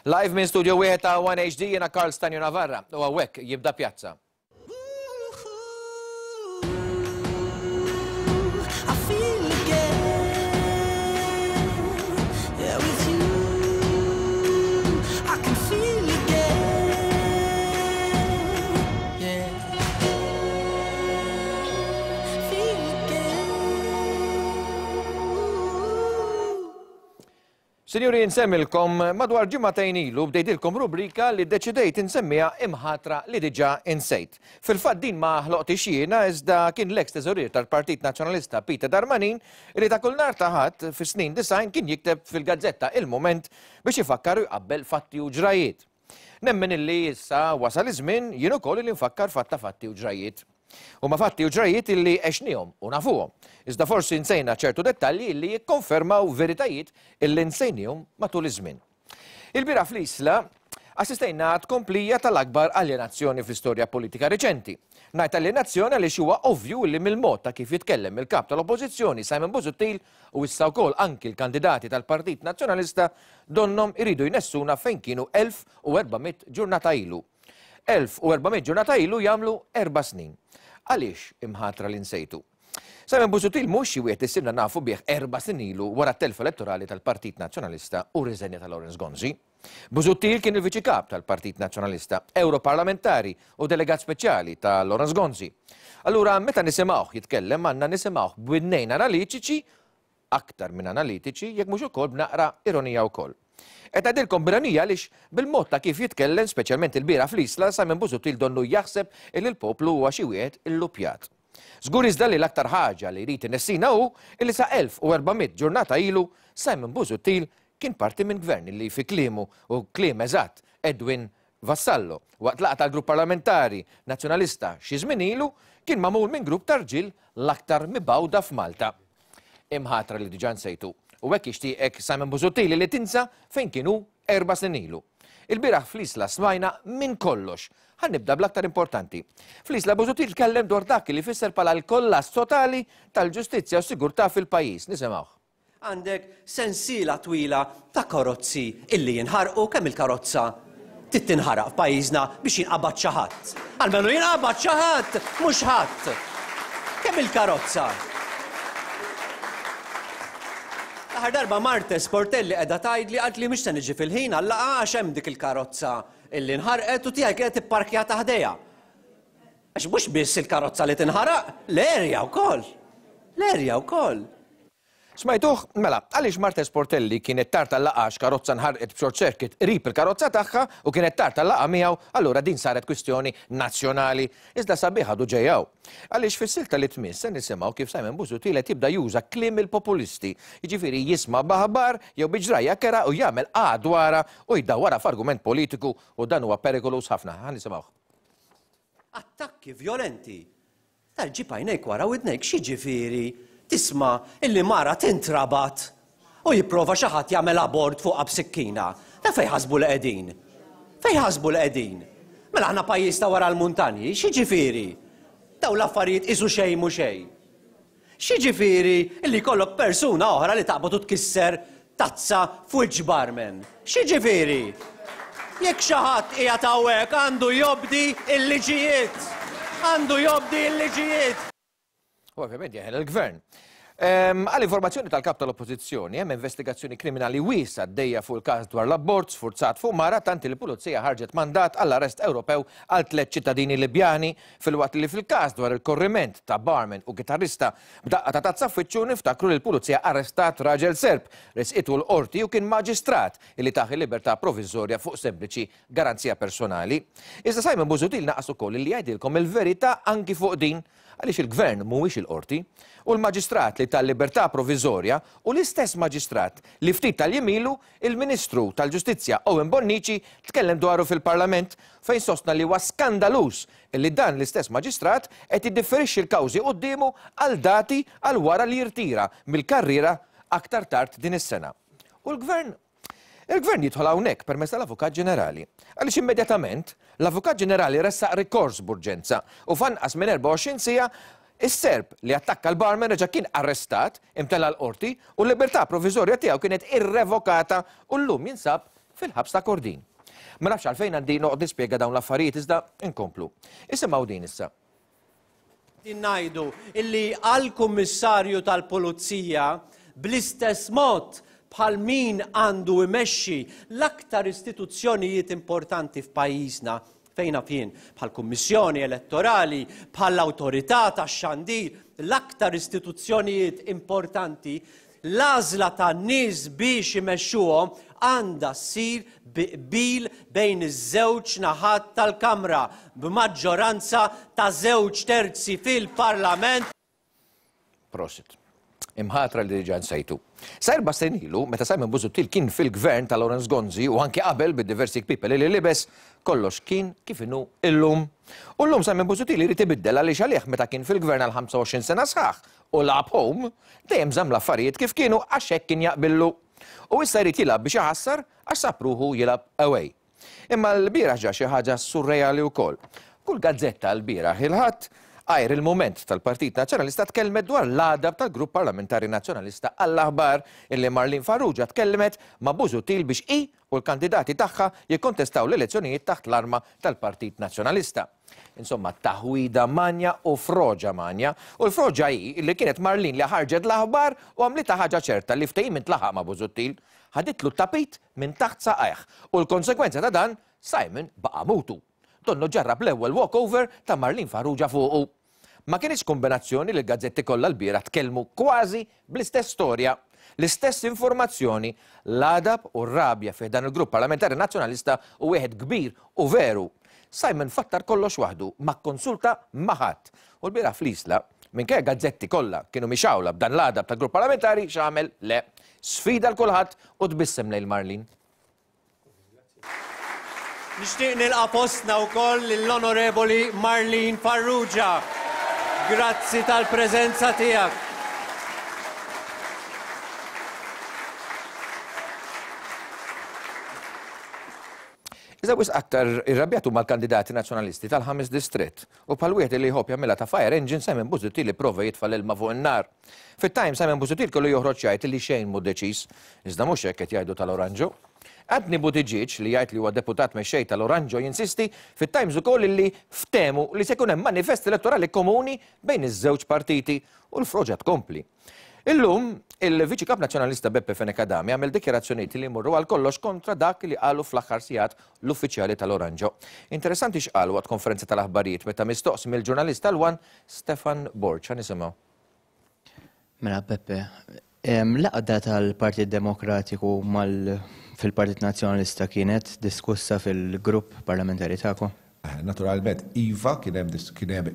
Live minn studio wieħed ta' One HD jiena Karl Stanju Navarra u hawnhekk jibda Pjazza. Sinjuri insemmilkom madwar ġimagħtejn ilu bdejtilkom rubrika li ddeċidejt insemmiha imħatra li diġà insejt. Fil-fatt din ma ħloqtix jiena iżda kien l-eks teżorier tal-Partit Nazzjonalista Peter Darmanin li ta' kull nhar ta' Ħadd fis-snin 90 kien jikteb fil-gazzetta Il-Mument biex ifakkar u jqabbel fatti u ġrajiet. Nemmen illi issa wasal iż-żmien jien ukoll illi nfakkar f'għadd ta' fatti u ġrajjiet. Huma fatti u ġrajjiet illi għexniehom u nafuhom, iżda forsi nsejna ċertu dettalji illi jikkonfermaw veritajiet illi nsejniehom matul iż-żmien. Ilbieraħ fl-Isla assistejna għat-tkomplija tal-akbar aljenazzjoni fl-istorja politika riċenti. Ngħid aljenazzjoni għaliex huwa ovvju illi mill-mod ta' kif jitkellem il-Kap tal-Oppożizzjoni Simon Busuttil u issa wkoll anki l-kandidati tal-Partit Nazzjonalista donnhom iridu jnessuna fejn kienu 1400 ġurnata ilu. 1400 ġurnata ilu jagħmlu erba' snin. Għaliex imħatra li nsejtu? Simon Busuttil mhux xi wieħed li sirna nafu bih erba' snin ilu wara t-telfa elettorali tal-Partit Nazzjonalista u r-riżenja ta' Lawrence Gonzi. Busuttil kien il-Viċi Kap tal-Partit Nazzjonalista, Ewroparlamentari u Delegat Speċjali ta' Lawrence Gonzi. Allura meta nisimgħuh jitkellem għandna nisimgħuh b'widnejn analitiċi, aktar minn analitiċi, jekk mhux ukoll b'naqra ironija wkoll. Qed ngħidilkom b'ironija għaliex bil-mod ta' kif jitkellem, speċjalment ilbieraħ fl-Isla, Simon Busuttil donnu jaħseb illi l-poplu huwa xi wieħed illupjat. Żgur iżda li l-aktar ħaġa li jrid inessina hu illi sa 1400 ġurnata ilu Simon Busuttil kien parti minn gvern illi fi kliemu u kliem eżatt Edwin Vassallo, waqt laqgħa tal-Grupp Parlamentari Nazzjonalista xi żmien ilu, kien magħmul minn grupp ta' rġiel l-aktar mibgħuda f'Malta. Imħatra li diġà nsejtu. U hekk jixtieqek Simon Busuttil li tinsa fejn kien hu erba' snin ilu. Ilbieraħ fl-Isla smajna minn kollox. Ħa nibda bl-aktar importanti. Fl-Isla Busuttil tkellem dwar dak li fisser bħala l-kollass totali tal-ġustizzja u s-sigurtà fil-pajjiż. Nisimgħuh. Għandek sensiela twila ta' karozzi illi jinħarqu, kemm il-karozza trid tinħaraq f'pajjiżna biex jinqabad xi ħadd. Almenu jinqabad xi ħadd, mhux ħadd. Kemm il-karozza? L-aħħar darba Marte Sportelli qiegħda tgħidli qaltli mhix se niġi fil-ħin għal-laqgħa għax hemm dik il-karozza illi nħarqet u tiegħi kienet ipparkjata ħdejha. Għax mhux biss il-karozza li tinħaraq, l-erja wkoll. L-erja wkoll. Smajtuh? Mela, għaliex Marthe Sportelli kienet tard għal-laqgħa għax karozza nħarqet b'short circuit qrib il-karozza tagħha u kienet tard għal-laqgħa miegħu, allura din saret kwistjoni nazzjonali. Iżda sabiħ għadu ġej hawn. Għaliex fis-silta li tmiss se nisimgħu kif Simon Busuttil qed jibda juża kliem il-populisti, jiġifieri jisma' b'aħbar jew bi ġrajja kerha u jagħmel qagħa dwarha u jdawwarha f'argument politiku u dan huwa perikoluż ħafna. Ħa nisimgħuh. Attakki vjolenti Tal ġib għajnejk wara widnejk x'jiġifieri tisma' illi mara tintrabat u jipprova xi ħadd jagħmel abort fuqha b'sikkina. Da fejn ħasbu li qegħdin? Fejn ħasbu li qegħdin? Mela aħna pajjiż ta' wara l-muntanji, x'jiġifieri? Dawn l-affarijiet qisu xejn mhu xejn. X'jiġifieri li jkollok persuna oħra li taqbad u tkisser tazza f'wiċċ barman? X'jiġifieri? Jekk xi ħadd qiegħed hawnhekk għandu jobdi l-liġijiet! Għandu jobdi l-liġijiet! U ovvjament jeħel il-gvern. Għal informazzjoni tal-kap tal-Oppożizzjoni, hemm investigazzjoni kriminali wiesgħa għaddejja fuq il-każ dwar l-abort sfurzat fuq mara tant li l-Pulizija ħarġet mandat għall-arrest Ewropew għal tliet ċittadini Libjani Filwaqt li fil-każ dwar il-korriment ta' barman u kitarrista b'daqqa ta' tazza f'wiċċu niftakru li l-Pulizija arrestat raġel Serb, ressqitu l-Qorti u kien Maġistrat li tah il-libertà proviżorja fuq sempliċi garanzija personali. Iżda Simon Busuttil naqas ukoll li jgħidilkom il-verità anki fuq din għaliex il-Gvern mhuwiex il-Qorti u l-Maġistrat li ta l-libertà proviżorja hu l-istess Maġistrat li ftit tal-jiem ilu Il-Ministru tal-Ġustizzja Owen Bonnici tkellem dwaru fil-Parlament fejn sostna li huwa skandaluż li dan l-istess Maġistrat qed jiddifferixxi l-kawżi quddiemu għal dati għal wara li jirtira mill-karriera aktar tard din is-sena. U l-Gvern? Il-Gvern jidħol hawnhekk permezz tal-Avukat Ġenerali. Għaliex immedjatament, l-Avukat Ġenerali ressaq rikors b'urġenza u f'anqas minn 24 siegħa Is-Serb li attakka l-barman reġa' kien arrestat, imtella' l-Qorti u l-libertà proviżorja tiegħu kienet irrevokata u llum jinsab fil-ħabs ta' Kordin. Ma nafx għalfejn għandi noqgħod nispjega dawn l-affarijiet iżda inkomplu. Isimgħu din issa. Qegħdin ngħidu illi għall-Kummissarju tal-Pulizija bl-istess mod bħal min għandu imexxi l-aktar istituzzjonijiet importanti f'pajjiżna, fejn naf jien, bħall-Kummissjoni Elettorali, bħall-Awtorità tax-Xandir, l-aktar istituzzjonijiet importanti, L-għażla tan-nies biex imexxuhom għandha ssir bi qbil bejn iż-żewġ naħat tal-Kamra, b'maġġoranza ta' żewġ terzi fil-Parlament. Prosit. Imħatra li diġà nsejtu. Sa erba' snin ilu, meta Simon Busuttil kien fil-Gvern ta' Lawrence Gonzi u anki qabel bid-diversi kpiepel li libes, kollox kien kif inhu illum. U llum Simon Busuttil irid ibiddel għaliex għalih meta kien fil-Gvern għal 25 sena sħaħ u lagħab home, dejjem żamm l-affarijiet kif kienu għax hekk kien jaqbillu. U issa jrid jilgħab biex iħassar għax sab ruħu jilgħab away. Imma lbieraħ ġara xi ħaġa surreali wkoll. Kull gazzetta lbieraħ il-Ħadd, għajr il-Mument tal-Partit Nazzjonalista tkellmet dwar l-għadab tal-Grupp Parlamentari Nazzjonalista għall-aħbar illi Marlene Farrugia tkellmet ma' Busuttil biex hi u l-kandidati tagħha jikkontestaw l-elezzjonijiet taħt l-arma tal-Partit Nazzjonalista. Insomma, taħwida manja u froġa manja. U l-froġa hi li kienet Marlene li ħarġet l-aħbar u għamlitha ħaġa ċerta li ftehim intlaħaq ma' Busuttil. Ħaditlu t-tapit minn taħt saqajh u l-konsegwenza ta' dan, Simon baqa' mutu. Donnu ġarrab l-ewwel walkover ta' Marlene Farrugia fuqu. Ma kinitx kumbinazzjoni li l-gazzetti kollha lbieraħ tkellmu kważi bl-istess storja, l-istess informazzjoni, l-għadab u r-rabja fi ħdan il-Grupp Parlamentari Nazzjonalista hu wieħed kbir u veru. Simon fattar kollox waħdu, ma kkonsulta ma' ħadd. U lbieraħ fl-Isla, minkejja gazzetti kollha kienu mixgħula b'dan l-għadab tal-Grupp Parlamentari, x'għamel? Le. Sfida 'l kulħadd u tbissem lejn Marlene. Nixtieq nilqa' fostna wkoll lill-Onorevoli Marlene Farrugia. Grazzi tal-preżenza tiegħek. Iżda wisq aktar irrabjat huma l-kandidati Nazzjonalisti tal-ħames distrett u bħal wieħed li jħobb jagħmilha ta' fire engine Simon Busuttil ipprova jitfa' l-ilma fuq in-nar. Fit-Times Simon Busuttil kellu joħroġ jgħid li xejn mhu deċiż. Iżda mhux hekk qed jgħidu tal-Oranġo. Anthony Buttigieg, li jgħid li huwa deputat mexxej tal-Oranġo jinsisti fit-Times ukoll illi ftehmu li se jkun hemm manifest elettorali komuni bejn iż-żewġ partiti u l-froġa tkompli. Illum, il-Viċi Kap Nazzjonalista Beppe Fenech Adami għamel dikjarazzjonijiet li jmorru għal kollox kontra dak li qalu fl-aħħar sigħat l-uffiċjali tal-Oranġo. Interessanti x'qal waqt konferenza tal-aħbarijiet meta mistoqsi mill-ġurnalist tal-One Stefan Borg. Ħa nisimgħu. Mela Beppe, l-għaqda tal-Partit Demokratiku mal fil-Partit Nazzjonalista kienet diskussa fil-grupp parlamentari tagħkom? Naturalment, iva, kien hemm kien hemm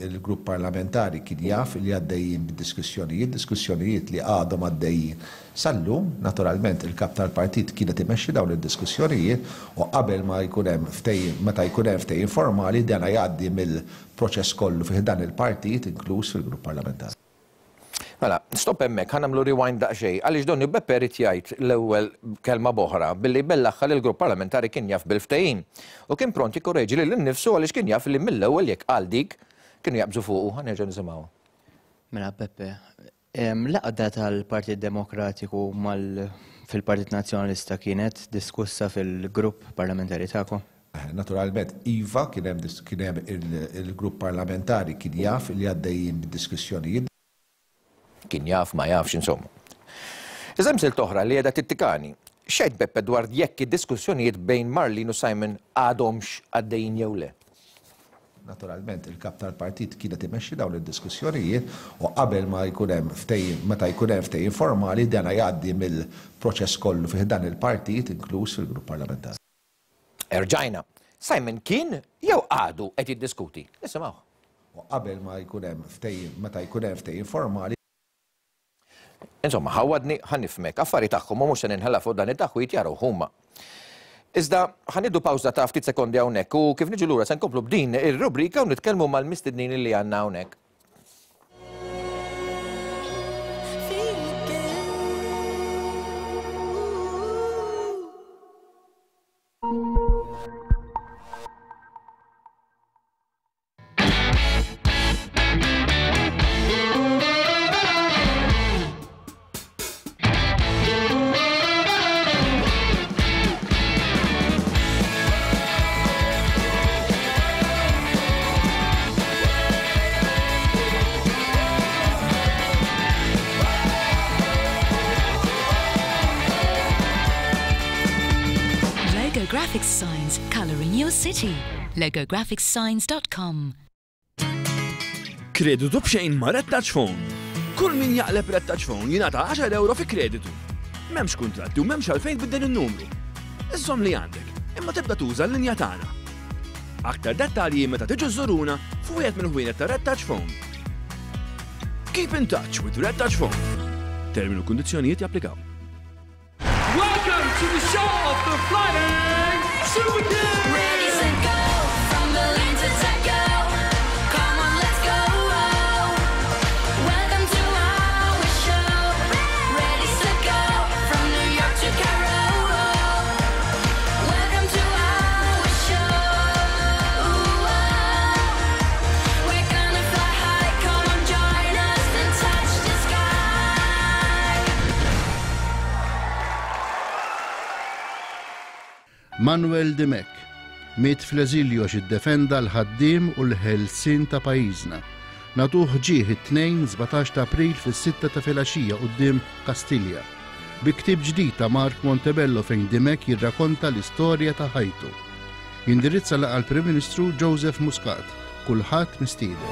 il-grupp parlamentari kien jaf li għaddejjin bid-diskussjonijiet, diskussjonijiet li għadhom għaddejjin sal-lum. Naturalment, il-Kap tal-Partit kien qed imexxi dawn id-diskussjonijiet u qabel ma jkun hemm ftehim, meta jkun hemm ftehim formali, dana jgħaddi mill proċess kollu fi ħdan il-partit, inkluż fil-grupp parlamentari. Mela, stop hemmhekk, ħa nagħmlu rewind daqsxejn, għaliex donnu Beppe ried jgħid l-ewwel kelma b'oħra billi jbellaħha li l-grupp parlamentari kien jaf bil-ftehim u kien pront jikkoreġi lilu nnifsu għaliex kien jaf li mill-ewwel jekk qal dik kienu jaqbżu fuqu. Ħa nerġgħu nisimgħuha. Mela Beppe, L-għaqda tal-Partit Demokratiku mal fil-Partit Nazzjonalista kienet diskussa fil-grupp parlamentari tagħkom? Naturalment, iva, kien hemm kien hemm il-grupp parlamentari kien jaf li għaddejjin bid-diskussjonijiet. Kien jaf, ma jafx, insomma. Iżda hemm silta oħra li qiegħda tittikani. X'għidt Beppe dwar jekk id-diskussjonijiet bejn Marlene u Simon għadhomx għaddejjin jew le? Naturalment, il-Kap tal-Partit kien qed imexxi dawn id-diskussjonijiet u qabel ma jkun hemm ftehim, meta jkun hemm ftehim formali, dana jgħaddi mill-proċess kollu fi ħdan il-partit, inkluż fil-grupp parlamentari. Erġajna. Simon kien jew għadu qed jiddiskuti? Nisimgħuh. U qabel ma jkun hemm ftehim, meta jkun hemm ftehim formali, Insomma, ħawwadni, ħa nifhmek, affari tagħhom u mhux se ninħela fuq dan it-taħwid jarawh huma. Iżda ħa nieħdu pawża ta' ftit sekondi hawnhekk u kif niġu lura se nkomplu b'din ir-rubrika u nitkellmu mal-mistednin li għandna hawnhekk. Graphics Signs, colouring your city. logographicssigns.com. Kreditu b'xejn ma' Red Touch Phone. Kull min jaqleb Red Touch Phone jingħata 10 euro fi kreditu. M'hemmx kuntratti u m'hemmx għalfejn tbiddel in-numru. Iżżomm li għandek, imma tibda tuża l-linja tagħna. Aktar dettalji meta tiġu żżuruna f'wieħed mill-ħwienet ta' Red Touch Phone. Keep in touch with Red Touch Phone. Termini u kundizzjonijiet japplikaw. Welcome to the show of the Flying Super Kids! Ready, set, go! From Berlin to Tokyo. Come on, let's go! Welcome to our show. Ready, set, go! From New York to Cairo. Welcome to our show. We're gonna fly high. Come on, join us and touch the sky. Manuel Dimech miet fl-eżilju għax iddefenda l-ħaddiem u l-ħelsien ta' pajjiżna. Nagħtuh ġieħ it-Tnejn 17 ta' April fis-sitta ta' filgħaxija quddiem Kastilja. Bi ktieb ġdid ta' Mark Montebello fejn Dimech jirrakonta l-istorja ta' ħajtu. Jindirizza laqgħa l-Prim Ministru Joseph Muscat. Kulħadd mistieden.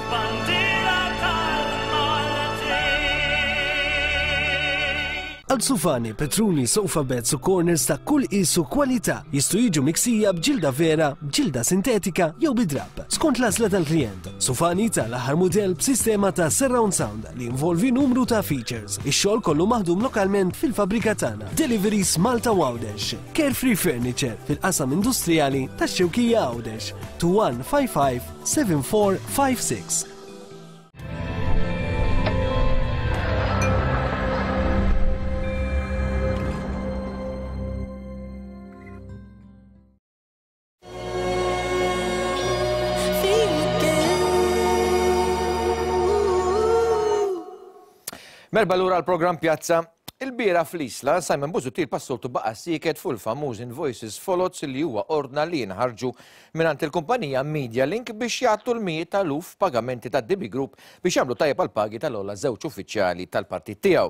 Għal sufani, petruni, sofa beds u corners ta' kull qies u kwalità jistgħu jiġu miksija b'ġilda vera, b'ġilda sintetika jew bi drapp, skont l-għażla tal-klijent. Sufani ta' l-aħħar mudell b'sistema ta' surround sound li jinvolvi numru ta' features. Ix-xogħol kollu maħdum lokalment fil-fabbrika tagħna. Deliveries Malta u Għawdex. Carefree Furniture fil-qasam industrijali tax-Xewkija Għawdex. 2155 7456. Merba lura l-programm Pjazza. Il-bieraħ fl-Isla, Simon Busuttil passoltu baqa' sieket fuq il-famuż invoices foloz li huwa ordna li jinħarġu mingħand il-kumpanija Media Link biex jgħattu l-mijiet ta' eluf pagamenti tad-DB Group biex jagħmlu tajjeb għall-pagi tal-ogħla żewġ uffiċjali tal-partit tiegħu.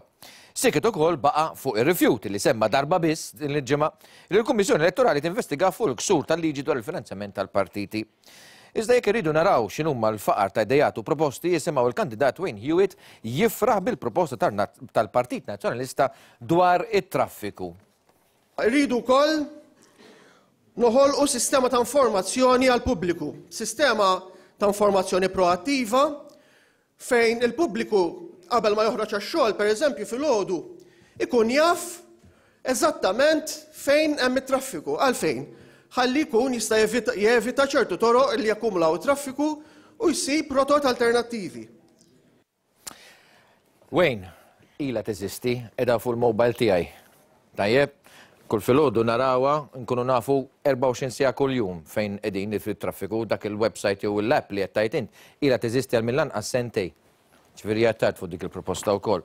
Sieket ukoll baqa' fuq ir-rifjut li semma darba biss din il-ġimgħa li l-Kummissjoni Elettorali tinvestiga fuq il-ksur tal-liġi dwar il-finanzjament tal-partiti. Iżda jekk irridu naraw x'inhuma l-faqar ta' ideat u proposti, isimgħu il-kandidat Wayne Hewitt jifraħ bil-proposta tal-Partit Nazzjonalista dwar it-traffiku. Irridu wkoll noħolqu sistema ta' informazzjoni għall-pubbliku, sistema ta' informazzjoni proattiva fejn il-pubbliku qabel ma joħroġ għax-xogħol, pereżempju filgħodu, ikun jaf eżattament fejn hemm it-traffiku. Għalfejn? Ħalli jkun jista' jevita ċertu toroq li jakkumulaw it-traffiku u jsib rotot alternattivi. Wayne, ilha teżisti, qiegħda fuq il-mobile tiegħi. Tajjeb, kull filgħodu narawha, nkunu nafu 24 siegħa kuljum fejn qegħdin fit-traffiku, dak il-website jew l-app li qed tgħid int, ilha teżisti għal mill-anqas sentej. Ġifieri hija tard fuq dik il-proposta wkoll.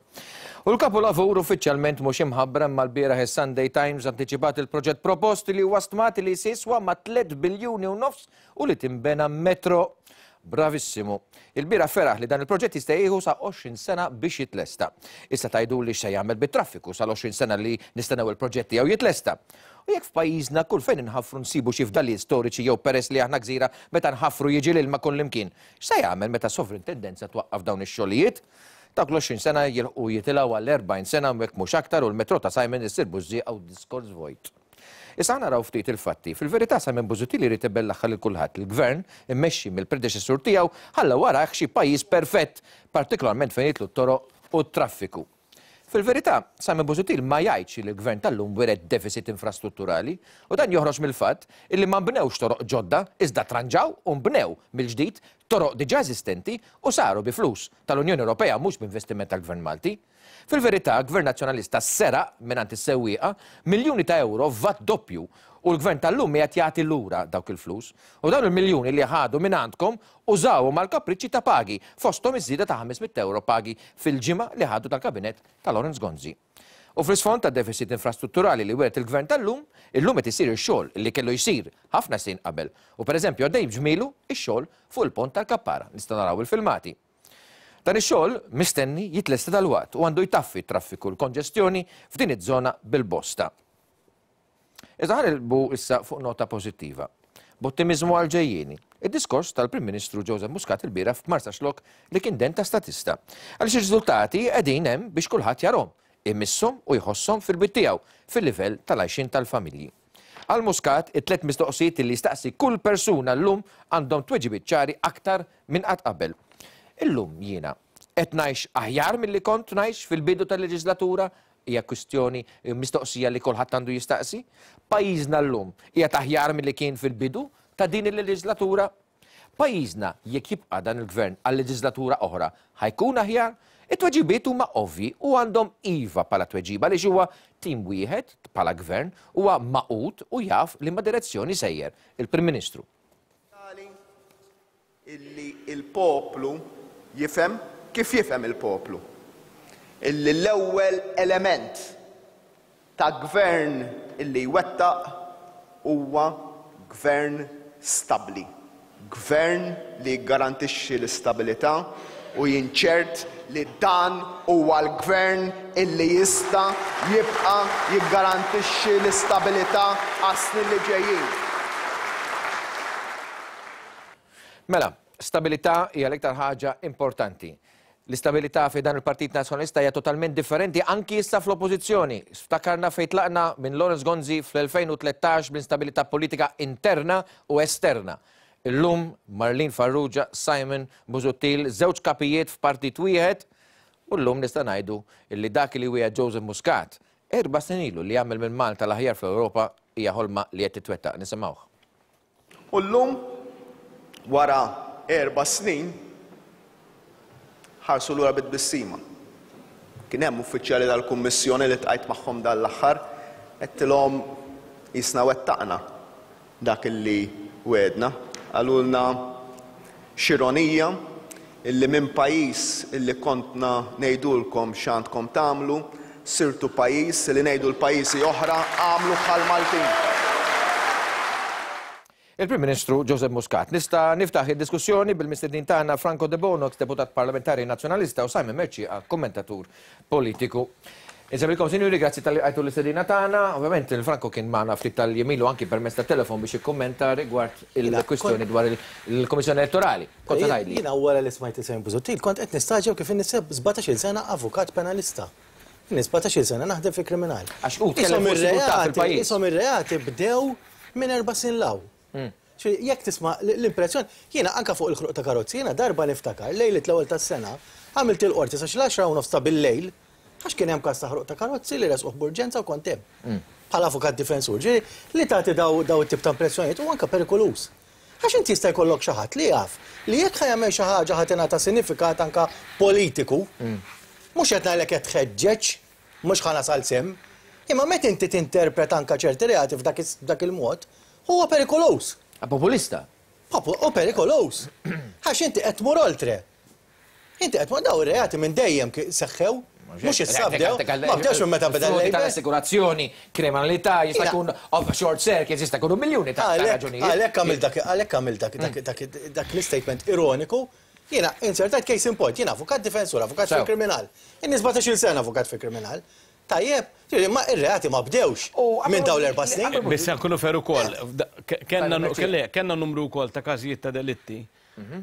U l-kapolavur uffiċjalment mhux imħabbra imma lbieraħ is-Sunday Times antiċipat il-proġett propost li huwa stmat li se jiswa ma' 3 biljuni u nofs u li tinbena metro. Bravissimu. Il-bieraħ feraħ li dan il-proġett jista' jieħu sa 20 sena biex jitlesta. Issa tgħiduli x'se jagħmel bit-traffiku sal-20 sena li nistennew il-proġett tiegħu jitlesta. U jekk f'pajjiżna kull fejn inħaffru nsibu xi fdalijiet storiċi jew peress li aħna gżira meta nħaffru jiġi l-ilma kullimkien, x'se jagħmel meta s-sovrintendenza twaqqaf dawn ix-xogħlijiet? Dawk l-20 sena jilħqu jitilgħu għal 40 sena u jekk mhux aktar u l-metro ta' Simon issir bużżieqa u diskors vojt. Issa ħa naraw ftit il-fatti. Fil-verità Simon Busuttil irid ibellaħħa lil kulħadd. Il-Gvern, immexxi mill-predeċessur tiegħu, ħalla warajh xi pajjiż perfett, partikolarment fejn jidħlu t-toroq u t-traffiku. Fil-verità, Simon Busuttil ma jgħidx li l-Gvern tal-lum wiret deficit infrastrutturali u dan joħroġ mill-fatt illi ma nbnewx toroq ġodda iżda tranġaw u nbnew mill-ġdid toroq diġà eżistenti u saru bi flus tal-Unjoni Ewropea mhux b'investiment tal-Gvern Malti. Fil-verità, Gvern Nazzjonalista seraq mingħand is-sewwieqa miljuni ta' ewro f'vat doppju u l-Gvern tal-lum qiegħed jagħti lura dawk il-flus. U dawn il-miljuni li ħadu mingħandkom użawhom għall-kapriċċi ta' pagi, fosthom iż-żieda ta' 500 ewro pagi fil-ġimgħa li ħadu tal-Kabinett ta' Lawrence Gonzi. U fl-isfond tad-deficit infrastrutturali li wiret il-Gvern tal-lum, illum qed isir ix-xogħol li kellu jsir ħafna snin qabel. U pereżempju għaddej b'ġmielu x-xogħol fuq il-pont tal-Kappara. Nistgħu naraw il-filmati. Dan ix-xogħol mistenni jitlesta dalwaqt u għandu jtaffi t-traffiku u l-konġestjoni f'din iż-żona bil-bosta. Iżda ħa nilbu issa fuq nota pożittiva. B'ottimiżmu għall-ġejjieni. Id-diskors tal-Prim Ministru Joseph Muscat ilbieraħ f'Marsaxlokk li kien den ta' statista. Għaliex ir-riżultati qegħdin hemm biex kulħadd jarhom, imisshom u jħosshom fil-bit tiegħu, fil-livell tal-għajxien tal-familji. Għal Muscat, it-tlett mistoqsijiet li jistaqsi kull persuna llum għandhom tweġibiet ċari aktar minn qatt qabel. Illum jiena qed ngħix aħjar milli kont ngħix fil-bidu tal-leġislatura? Hija kwistjoni, mistoqsija li kulħadd għandu jistaqsi. Pajjiżna llum qiegħed aħjar milli kien fil-bidu ta' din il-leġislatura? Pajjiżna jekk jibqa' dan il-Gvern għal leġislatura oħra ħa jkun aħjar? It-tweġibiet huma ovvji u għandhom iva bħala tweġiba għaliex huwa tim wieħed bħala Gvern, huwa magħqud u jaf liema direzzjoni sejjer il-Prim Ministru. Tali illi l-poplu jifhem kif jifhem il-poplu illi l-ewwel element ta' gvern illi jwettaq huwa gvern stabbli, gvern li jiggarantixxi l-istabilità u jien ċert li dan huwa l-gvern illi jista' jibqa' jiggarantixxi l-istabilità għas-snin li ġejjin. Mela, stabilità hija l-iktar ħaġa importanti. L-istabilità fi dan il-Partit Nazzjonalista hija totalment differenti anki issa fl-Oppożizzjoni. Ftakarna fejn tlaqna minn Lawrence Gonzi fl-2013 bl-instabilità politika interna u esterna. Illum Marlene Farrugia, Simon Busuttil, żewġ kapijiet f'partit wieħed u llum nista' ngħidu li dak li wiegħed Joseph Muscat erba' snin ilu li jagħmel minn Malta l-aħjar fl-Ewropa hija ħolma li qed titwettaq. Nisimgħuh. U llum, wara erba' snin, ħarsu lura bi tbissima. Kien hemm uffiċjali tal-Kummissjoni li ltqajt magħhom dan l-aħħar, għedtilhom qisna wettaqna dak illi wegħdna. Qalulna x'ironija illi minn pajjiż illi kontna ngħidulkom x'għandkom tagħmlu, sirtu pajjiż li ngħidu l-pajjiżi oħra agħmlu bħall-Maltin. Il-Prim Ministru Joseph Muscat. Nista' niftaħ id-diskussjoni bil-mistednin tagħna Franco Debono, eks deputat parlamentari Nazzjonalista u Simon Mercieca, kommentatur politiku. Insellmilkom sinjuri, grazzi talli lqajtu l-istedina tagħna. Ovvjament il-Franco kien magħna ftit tal-jiem ilu anki permezz tat-telefon biex jikkummenta rigward il-kwistjoni dwar il-Kummissjoni Elettorali. Kont se tgħidli. Jiena wara li smajt lil Simon Busuttil kont qed nistagħġeb kif inni 17-il sena avukat penalista. Inni 17-il sena naħdem fil-kriminal. Għax hu tkellem fuq is-sigurtà fil-pajjiż. Qishom ir-reati bdew minn erba' snin 'l hawn. Ġifieri jekk tisma' l-impressjoni, jiena anke fuq il-ħruq ta' karozzi, jiena darba niftakar lejliet l-ewwel tas-sena għamilt il-qorti sa xi l-għaxra u nofs ta' bil-lejl għax kien hemm każ ta' ħruq ta' karozzi li resquh b'urġenza u kont hemm bħala avukat difensur. Ġifieri li tagħti daw it-tip ta' impressjonijiet huwa anke perikoluż. Għax inti jista' jkollok xi ħadd li jaf li jekk ħa jagħmel xi ħaġa ħa tingħata sinifikat anke politiku. Mhux qed ngħidlek qed tħeġġeġ, mhux ħa nasal s'hemm, imma meta inti tinterpreta anke ċerti reati f'dak il-mod, huwa perikoluż. Populista. U perikoluż. Għax inti qed tmur oltre. Inti qed tmur daw ir-reati minn dejjem seħħew. Mhux issa bdew, ma bdewx minn meta beda l-Labour. Tal-assigurazzjoni, kriminalità, jista' jkun short circuits, jista' jkunu miljuni ta' raġunijiet. Għalhekk għamilt dak, għalhekk għamilt dak l-istatement ironiku. Jiena insertajt case in point, jiena avukat difensur, avukat fil-kriminal. Inni 17-il sena avukat fil-kriminal. Tajjeb, ġifieri ma ir-reati ma bdewx minn dawn l-erba' snin. Biss nkunu fair ukoll, kellna numru wkoll ta' każijiet ta' delitti,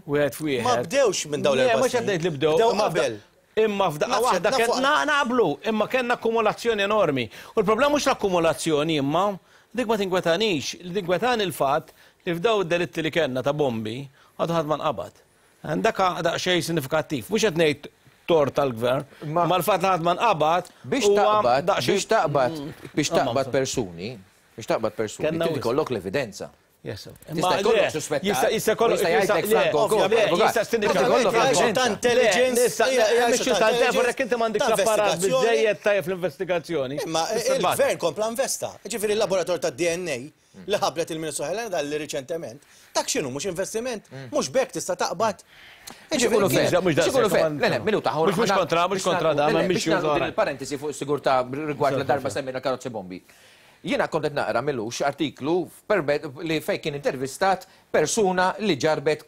wieħed f'wieħed. Ma bdewx minn dawn l-erba' snin. Mhux qed ngħid li bdew. Bdew qabel. Imma f'daqqa waħda kellna naqblu, imma kellna akkumulazzjoni enormi. U l-problema mhux l-akkumulazzjoni imma dik ma tinkwetanix, li tinkwetani l-fatt li f'dawn id-delitti li kellna ta' bombi għadu ħadd ma nqabad. Dak daqsxejn sinifikattiv. Mhux qed ngħid tort tal-gvern, imma l-fatt li ħadd ma nqabad. Biex taqbad, biex taqbad, biex taqbad persuni, biex taqbad persuni, trid ikollok l-evidenza. Tista' jkollok suspettat. Jista' jkollok Jista' jgħidlek Franco wkoll. Jista' Jkollok evidenza. Ta' intelligence. Jekk inti m'għandekx apparat biżżejjed tajjeb fl-investigazzjoni. Imma il-gvern kompla investa. Ġifieri l-laboratorju tad-DNA li ħabbret il-Ministru Helena Dalli riċentement, dak x'inhu mhux investiment? Mhux b'hekk tista' taqbad? Ġifieri X'ikunu fair? Le, le, minuta. Mhux kontra, mhux kontra da, ma mhix din il-parentesi fuq is-sigurtà rigward la darba semmejna karozzi bombi. Jiena kont qed naqra m'ilux artiklu li fejn kien intervistat persuna li ġarrbet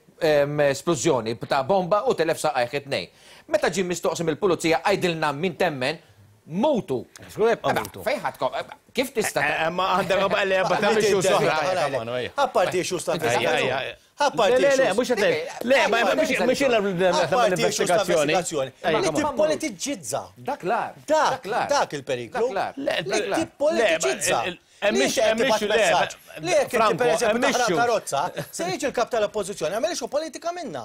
splużjoni ta' bomba u telef saqajh it-tnejn. Meta ġie mistoqsi mill-pulizija għidilna min temmen, mutu. Żgur jibqa' mutu. Fejn ħadd. Kif tista' Ma għandek le, ma tagħmilx issues oħra. Apparti issues ta' investigazzjoni. Apparti Le, le, mhux qed Le, ma mhux jiena l-investigazzjoni. Li tippolitiġizza. Dak l-ar. Dak, dak il-periklu. Li tippolitiġizza. Li jekk inti pereżempju taħraq karozza, se jiġi l-kap tal-oppożizzjoni, għamel issue politika minna.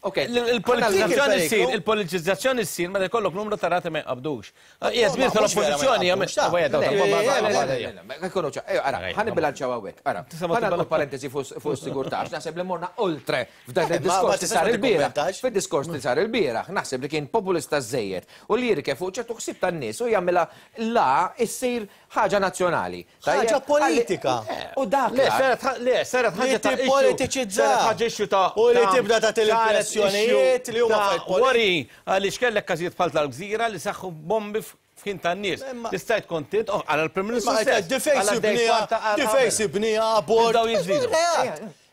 Ok, Il-politizzazzjoni ssir, il-politizzazzjoni ssir meta jkollok numru ta' reati ma jqabdux. Hija dmir tal-oppożizzjoni jagħmel. Ekkono ċa, ara, ħa nibbilanċjaw hawnhekk, ara. Ħa nagħmlu parentesi fuq is-sigurtà, għax naħseb li morna oltre f'dan il-diskors li sar il-bieraħ. Fid-diskors li sar il-bieraħ, naħseb li kien populista żejjed u li jirkeb fuq ċertu ħsieb tan-nies u jagħmilha la issir ħaġa nazzjonali. Ħaġa politika. U dak. Le, saret le, saret ħaġa ta' tippolitiċizza. Saret ħaġa issue ta' U li tibda tagħti l-impressjonijiet li huma ta' Wari għaliex kellek każijiet bħal tal-gżira li saħħu bombi f'ħin tan-nies. Tista' tkun tint, oh, għal il-Prim Ministru stess. Difejs ibniha, difejs ibniha, abort.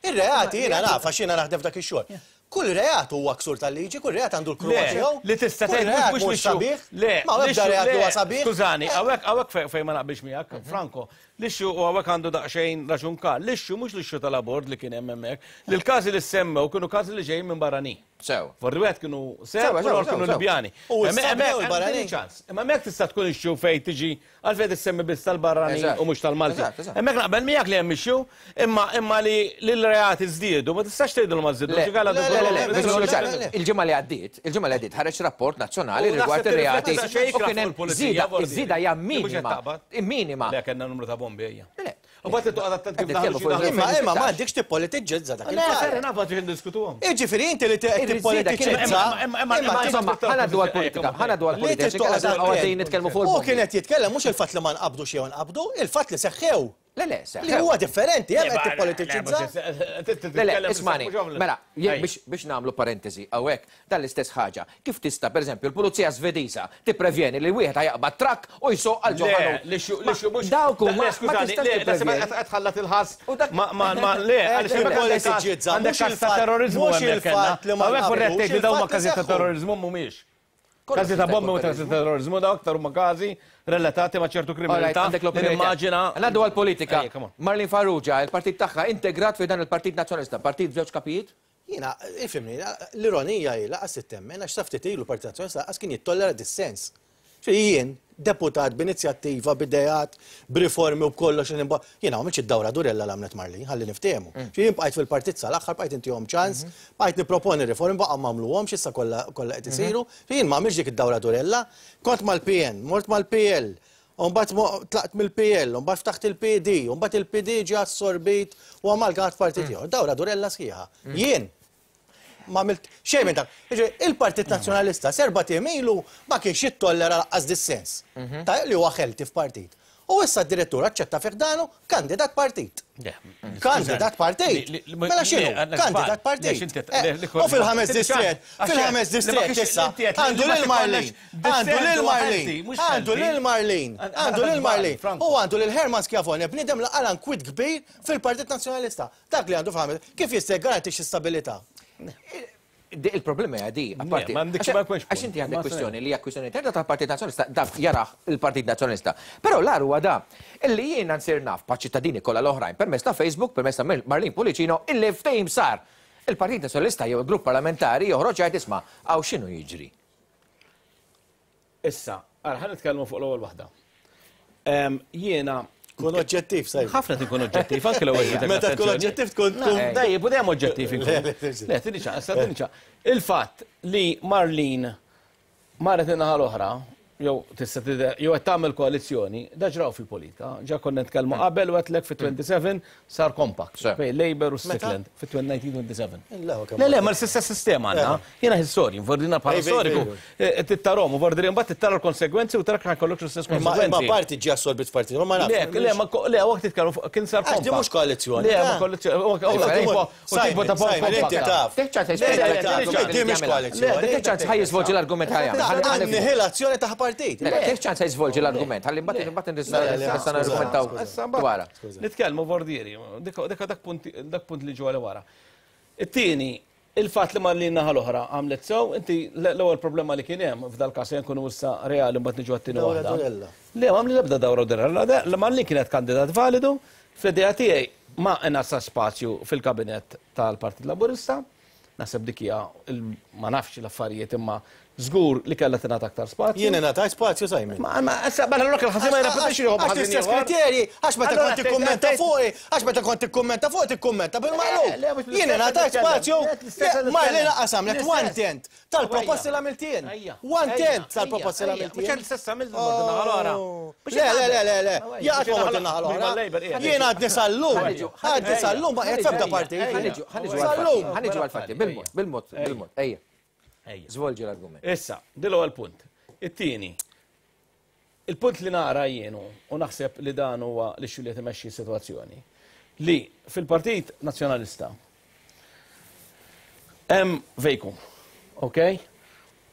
Ir-reati jiena naf għax jiena naħdem f'dak ix-xogħol. Kull reat huwa ksur tal-liġi, kull reat għandu l-kruha tiegħu. Li tista' tgħid mhux mhux sabiħ. Le, ma ebda reat li huwa sabiħ. Skużani, hawnhekk hawnhekk fejn ma naqbilx miegħek, Franco, l-issue u hawnhekk għandu daqsxejn raġun Karl, l-issue mhux l-issue tal-abort li kien hemm hemmhekk, li l-każi li semmew kienu każi li ġejjin minn barranin. Sew. Forri wieħed kienu Serb u l-ieħor kienu Libjani. U s-semmew il-barranin. Imma hemmhekk tista' tkun issue fejn tiġi Għalfejn issemmi biss tal-barranin u mhux tal-Maltin. Hemmhekk naqbel miegħek li hemm issue, imma imma li l-reati żdiedu, ma tistax tgħidu li ma żdiedu. Le, le, le, il-ġimgħa li għaddiet, il-ġimgħa li għaddiet ħareġ rapport nazzjonali rigward ir-reati. U kien hemm żieda, iż-żieda hija minima. Minima. Le, kellna numru ta' bombi ejja. U bat toqgħod attent kif daħlu xi daħlu. Imma imma m'għandekx tippolitiġġizza dak il-fatt. Le, naf għad diskutuhom. Jiġifieri inti li tippolitiċizza. Imma insomma, ħa ngħaddu għall-politika, ħa ngħaddu għall-politika. Għadin nitkellmu fuq. Hu kien qed jitkellem mhux il-fatt li ma nqabdux jew nqabdu, il-fatt li seħħew. Le, le, seħħew. Li huwa differenti, hemm qed tippolitiċizza. Le, le, ismani, mela, biex nagħmlu parentesi hawnhekk, Dan l-istess ħaġa. Kif tista', pereżempju, l-pulizija Svediża tipprevjeni li wieħed ħa jaqbad trakk u jsuq għal ġo ħanut? Le, l-issue, l-issue mhux. Dawk huma. Le, skużani, le, naħseb qed qed tħallat il-ħass ma' ma' ma' le, għaliex hemmhekk għandek każ, għandek każ ta' terroriżmu hemmhekk kellna. Hawnhekk forsi qed tgħid li dawn huma każijiet ta' terroriżmu mhumiex. Każi ta' bombi u każi ta' terroriżmu dawn aktar huma każi relatati ma' ċertu kriminalità. Għandek li nimmaġina. Ngħaddu għall-politika. Marlene Farrugia, il-partit tagħha integrat fi dan il-Partit Nazzjonalista, partit b'żewġ kapijiet? Jiena, ifhimni, l-ironija hi lanqas trid temmen għax sa ftit ilu l-Partit Nazzjonalista lanqas kien jittollera dissens. Ġifieri jien, deputat b'inizjattiva, b'ideat, b'riformi u b'kollox li nimba, jiena m'għamiltx id-dawra durella li għamlet Marlene, ħalli niftehmu. Ġifieri jien bqajt fil-partit sal-aħħar, bqajt intihom ċans, bqajt nipproponi riformi, baqgħu m'għamluhomx, issa kollha kollha qed isiru. Ġifieri jien m'għamiltx dik id-dawra durella. Kont mal-PN, mort mal-PL, U mbagħad tlaqt mill-PL, u mbagħad ftaħt il-PD, u mbagħad il-PD ġie assorbit u amalgamat f'partit ieħor. Dawra durella sħiħa. Jien ma għamilt xejn minn dak. Jiġifieri, il-Partit Nazzjonalista serba' tiem ilu ma kienx jittollera lanqas dissens. Ta' li huwa healthy f'partit. U issa d-direttur aċċetta fi ħdanu kandidat partit. Kandidat partit. Mela x'inhu? Kandidat partit. U fil-ħames distrett, fil-ħames distrett issa għandu lil Marlene, għandu lil Marlene, għandu lil Marlene, għandu lil Marlene. U għandu lil Herman Schiavone, bniedem li qala nkwiet kbir fil-Partit Nazzjonalista. Dak li għandu fil-ħames, kif jista' jgarantixxi stabilità? Il-problema hija di, apparti. Għax inti għandek kwistjoni li hija kwistjoni interna tal-Partit Nazzjonalista, dak jarah il-Partit Nazzjonalista. Però l-agħar huwa da, illi jiena nsir naf bħaċ-ċittadini kollha l-oħrajn permezz ta' Facebook, permezz ta' Marlene Pullicino, illi ftehim sar. Il-Partit Nazzjonalista jew il-grupp parlamentari joħroġ jgħid isma' hawn x'inhu jiġri. Issa, ara ħa nitkellmu fuq l-ewwel waħda. Jiena Kun oġġettiv, sajf. Ħafna tinkun oġġettiv, anke l-ewwel ġitek. Meta tkun oġġettiv tkun tkun. Dejjem, u dejjem oġġettiv inkun. Le, tini ċa, issa tini ċa. Il-fatt li Marlene marret in-naħa l-oħra, jew tista' tidher, jew qed tagħmel koalizzjoni, da ġraw fil-politika. Ġa konna nitkellmu qabel u għedtlek fit-27 sar compact bejn Labour u Strickland fit-1927. Le, le, ma l-istess sistema għandna. Jiena historian, vordina bħala storiku, tittarom, u vordina mbagħad tittara l-konsegwenzi u tara kif ħajkollok l-istess konsegwenzi. Ma parti ġi assorbit f'parti, ma nafx. Le, le, ma le, waqt titkellmu kien sar compact. Mhux koalizzjoni. Le, ma koalizzjoni. U tipo ta' Simon, inti taf. Di mhix koalizzjoni. Dik ċans ħaj jiżvolġi l-argument ħajja. Annihilazzjoni ta' partit. Dik ċans ħaj jiżvolġi l-argument. Ħalli mbagħad imbagħad nista' nargumentaw dwarha. Nitkellmu vordieri, dik dak punt li ġew wara. It-tieni, Il-fatt li Marlene naħa l-oħra għamlet sew, inti l-ewwel problema li kien hemm f'dal-każ se nkunu issa reali mbagħad niġu għat-tieni Dawra waħda. durella. Le, ma għamli l-ebda dawra durella. La Marlene kienet kandidat validu, fl-idea tiegħi ma ingħata spazju fil-kabinett tal-Partit Laburista. Naħseb dik hija ma nafx l-affarijiet imma żgur li kellha tingħata aktar spazju. Jien ingħatajt spazju Simon. Ma ma issa mela allura kien ħażin ma jirrepetix ruħu Għax l-istess kriterji, għax meta kont tikkummenta fuqi, għax meta kont tikkummenta fuqi tikkummenta bil-maqlub. Jien ingħatajt spazju, ma li lanqas għamlet one tenth tal-proposti li għamilt jien. One tenth tal-proposti li għamilt jien. Mhux l-istess għamilt naħa l-oħra. Le, le, le, le, le, jaqgħod ma mort in-naħa l-oħra. Jien għadni sal-lum, għadni sal-lum ma qiegħed f'ebda partit. Sal-lum. Ħa niġu għall-fatti, bil-mod, bil-mod, bil-mod. Ejja. Żvolġi l-argument. Issa, din l-ewwel punt. It-tieni, il-punt li nara jien hu, u naħseb li dan huwa l-issue li qed imexxi s-sitwazzjoni, li fil-Partit Nazzjonalista hemm vacuum, ok?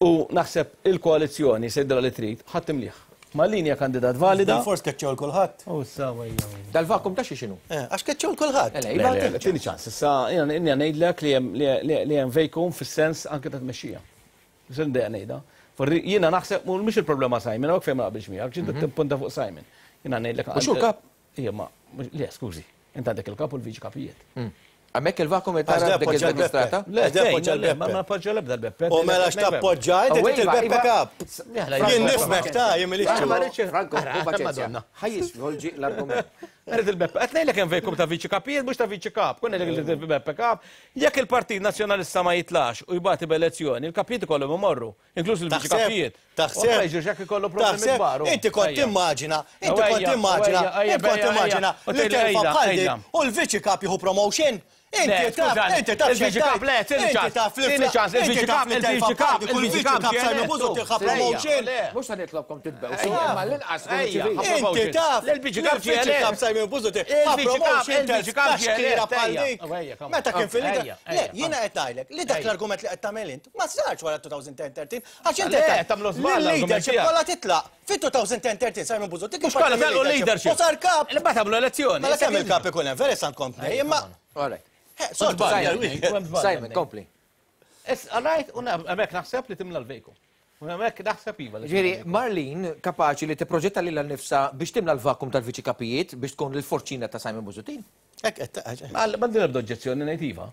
U naħseb il-koalizzjoni se jidhirha li trid, ħa timlih. Marlene hija kandidat valida. Bilfors keċċew 'l kulħadd. U issa wejja. Dal-vacuum ta' xi x'inhu? Eh, għax keċċew 'l kulħadd. Le, le, le, tieni ċans. Issa jiena ngħidlek li hemm li hemm vacuum fis-sens anke ta' tmexxija. Se ndejja ngħidha. Jiena naħseb mhux il-problema Simon, hawnhekk fejn ma naqbilx miegħek, ġinta tippunta fuq Simon. Jiena ngħidlek. Mhux hu l-kap? Ija, ma, le, skużi. Int għandek il-kap u l-viċi kapijiet. Hemmhekk il-vakum qed tara dik il-strata? Le, le, le, ma nappoġġa l-ebda l-Beppe. U mela x'tappoġġa, inti trid il-Beppe kap. Jien nifhmek ta' jien milix. Franco, paċenzja. Ħa jisvolġi l-argument. Rrid il-Beppe. Qed ngħidlek hemm vacuum ta' viċi kapijiet mhux ta' viċi kap. Kun ngħidlek li il-Beppe kap. Jekk il-Partit Nazzjonalista ma jitlax u jbati b'elezzjoni, il-kapijiet ikollhom imorru. Inkluż il-viċi kapijiet. Taħseb. Ma jiġux jekk ikollu problemi kbar. Inti kont timmaġina, inti kont timmaġina, inti kont timmaġina li telfa bħal dik u l-viċi kap jieħu promotion. Inti taf, inti taf Il-viċi kap, le, tieni ċans. Tieni ċans, il-viċi kap, il-viċi kap, il-viċi kap, Simon Busuttil ħa promotion. Mhux se nitlobkom titbewsu, imma l-inqas Inti taf, il-viċi kap il-viċi kap Simon Busuttil ħa promotion telfa bħal dik. Meta kien fil-lider. Le, jiena qed ngħidlek li dak l-argument li qed tagħmel int ma sarx wara 2013 Għax inti Le, tagħmlu żball l-leadership kollha titlaq. Fit-2013 Simon Busuttil Mhux kollha telqu l-leadership. U sar kap. Li mbagħad għamlu elezzjoni. Mela kemm il-kap ikun hemm, vera għandkom tnej, imma. All right. Soltu Simon, kompli. All right, u hemmhekk naħseb li timla l-vejku. U hemmhekk naħseb iva. Ġifieri, Marlene kapaċi li tipproġetta lilha nnifsha biex timla l-vakum tal-viċi kapijiet biex tkun l-forċina ta' Simon Busuttil? Hekk qed M'għandi l-ebda oġġezzjoni ngħid iva.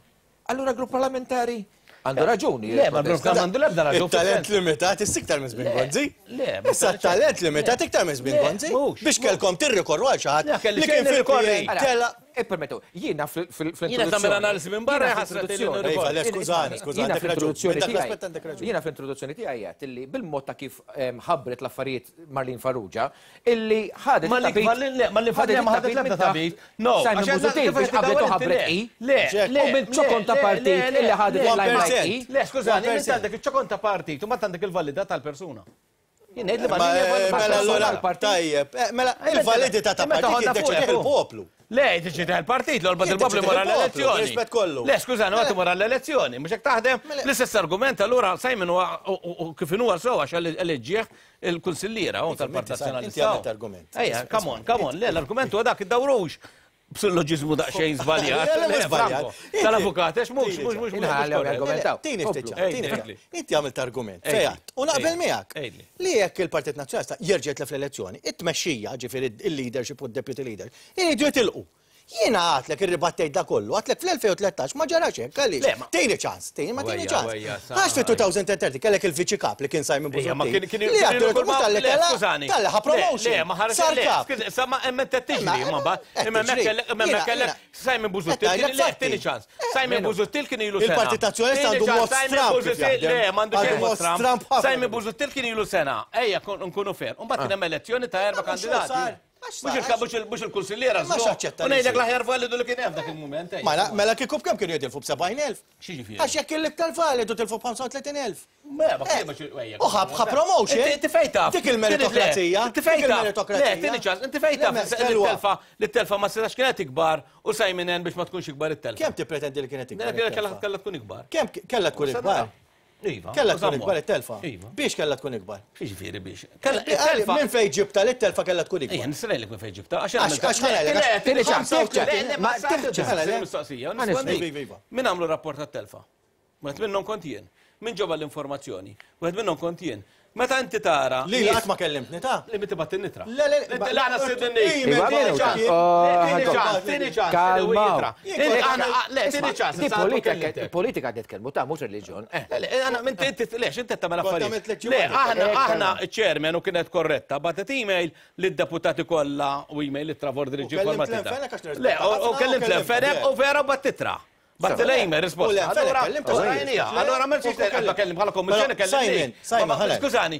Allura grupp parlamentari għandu raġuni. Le, ma grupp għandu l-ebda raġuni. Il-talent limitat issa iktar minn żmien Gonzi. Le, issa talent limitat iktar minn żmien Gonzi. Biex kellkom tirrikorru għal xi ħadd li kien fil-rikorri. Tella. Ippermettu, jiena fl-introduzzjoni. Jiena tagħmel analiżi minn barra ħasra Iva, le, skużani, skużani, għandek raġun. Jiena fl-introduzzjoni tiegħi għedt illi bil-mod ta' kif ħabbret l-affarijiet Marlene Farrugia, illi ħadet Ma li le, ma li ħadet ma ħadet l-ebda tabit. No, Simon Busuttil biex qablet u ħabbret i. Le, le, U minn ċokon ta' partit illi ħadet il-limelight i. Le, skużani, inti għandek iċ-ċokon ta' partit u mbagħad għandek il-validità tal-persuna. Jien ngħid li Ma mela allura tajjeb, mela il-validità ta' partit jiddeċidih il-poplu. Le, jiddeċidih il-partit, l-olba il-poplu jmur għall-elezzjoni. Rispett kollu. Le, skużani, għad imur għall-elezzjoni, mhux hekk taħdem l-istess argument allura Simon huwa kif inhu sew għax eleġġieh il-kunsilliera u tal-Partit Nazzjonalista. Inti għamilt argument. Ejja, come on, come on, le, l-argument huwa dak iddawrux b'silloġiżmu daqsxejn żbaljat. Le, mhux żbaljat. Tal-avukat, għax mhux, mhux, mhux. Inħallew jargumentaw. Tini ftit tini ftit. Inti għamilt argument, fejat, u naqbel miegħek. Li jekk il-Partit Nazzjonalista jerġa' jitlef l-elezzjoni, it-tmexxija, ġifieri il-leadership u d-deputy leader, iridu jitilqu. Jiena għadtlek irribattejt da kollu, għadtlek fl-2013 ma ġarax hekk, għaliex? Tini ċans, tini ma tini ċans. Għax fit-2030 kellek il-viċi kap li kien Simon Busuttil. Li għadtlek mhux talli kellha, talli ħa promotion. Sar kap. Sa ma hemm qed tiġri, ma mbagħad. Imma hemmhekk kellek Simon Busuttil kien le tini ċans. Simon Busuttil kien ilu sena. Il-Partit Nazzjonalista għandu mod stramp kif jaħdem. Le, m'għandu xejn mod stramp. Simon Busuttil kien ilu sena. Ejja nkunu fair. U mbagħad kien hemm elezzjoni ta' erba' kandidati. Mhux il-kunsilliera Ma x'aċċetta U ngħidlek l-aħjar validu li kien hemm dak il-mument. Mela, mela kieku b'kemm kienu jitilfu b'70,000? X'jiġifieri? Għax jekk l-iktar validu tilfu b'35,000. Ma ma kienx U ħab ħa promotion. Inti fejn taf. Dik il-meritokrazija. Inti fejn taf. Le, tieni ċans, inti fejn taf li telfa li telfa ma setax kienet ikbar u Simon N biex ma tkunx ikbar it-telfa. Kemm tippretendi li kienet ikbar? Kellha tkun ikbar. Kemm kellha tkun ikbar? Iva. Kellha tkun ikbar it-telfa. Iva. Biex kellha tkun ikbar? X'jiġifieri biex? Kellha it-telfa. Minn fejn ġibta li t-telfa kellha tkun ikbar? Ejja, nistgħilek minn fejn ġibta. Għax għax ħanajlek. Tieni ċans. Ma mistoqsija. Min għamlu rapport tat-telfa? Wieħed minnhom kont jien. Min ġabha l-informazzjoni? Wieħed minnhom kont jien. Meta inti tara. Lili qatt ma kellimtni ta'. Li inti bgħatt in-nitra. Le, le, le, aħna stidinnik. Iva, Tieni ċans, tieni ċans, tieni ċans, Kalmaw. Le, tieni ċans. Di politika, politika qed nitkellmu ta' mhux reliġjon. Le, le, aħna inti inti lex inti tagħmel Kont affarijiet. għamilt Le, leġġi aħna aħna ċ-chairman u kienet korretta, bagħtet email lid-deputati kollha u email lit-Travor U Driġi kellimt formatita. l-Enfenek għax Le, nirrispetta u ħafna, kellimt u kellimt, l-Enfenek u vera u bagħat titra. Bagħat l-email risposta. U l-Enfenek Allura, kellimt, u rajnija. Allura ma rridx U kellim kellim bħala kommissjoni Però, kellim. Simon, Simon, ħalek. Skużani,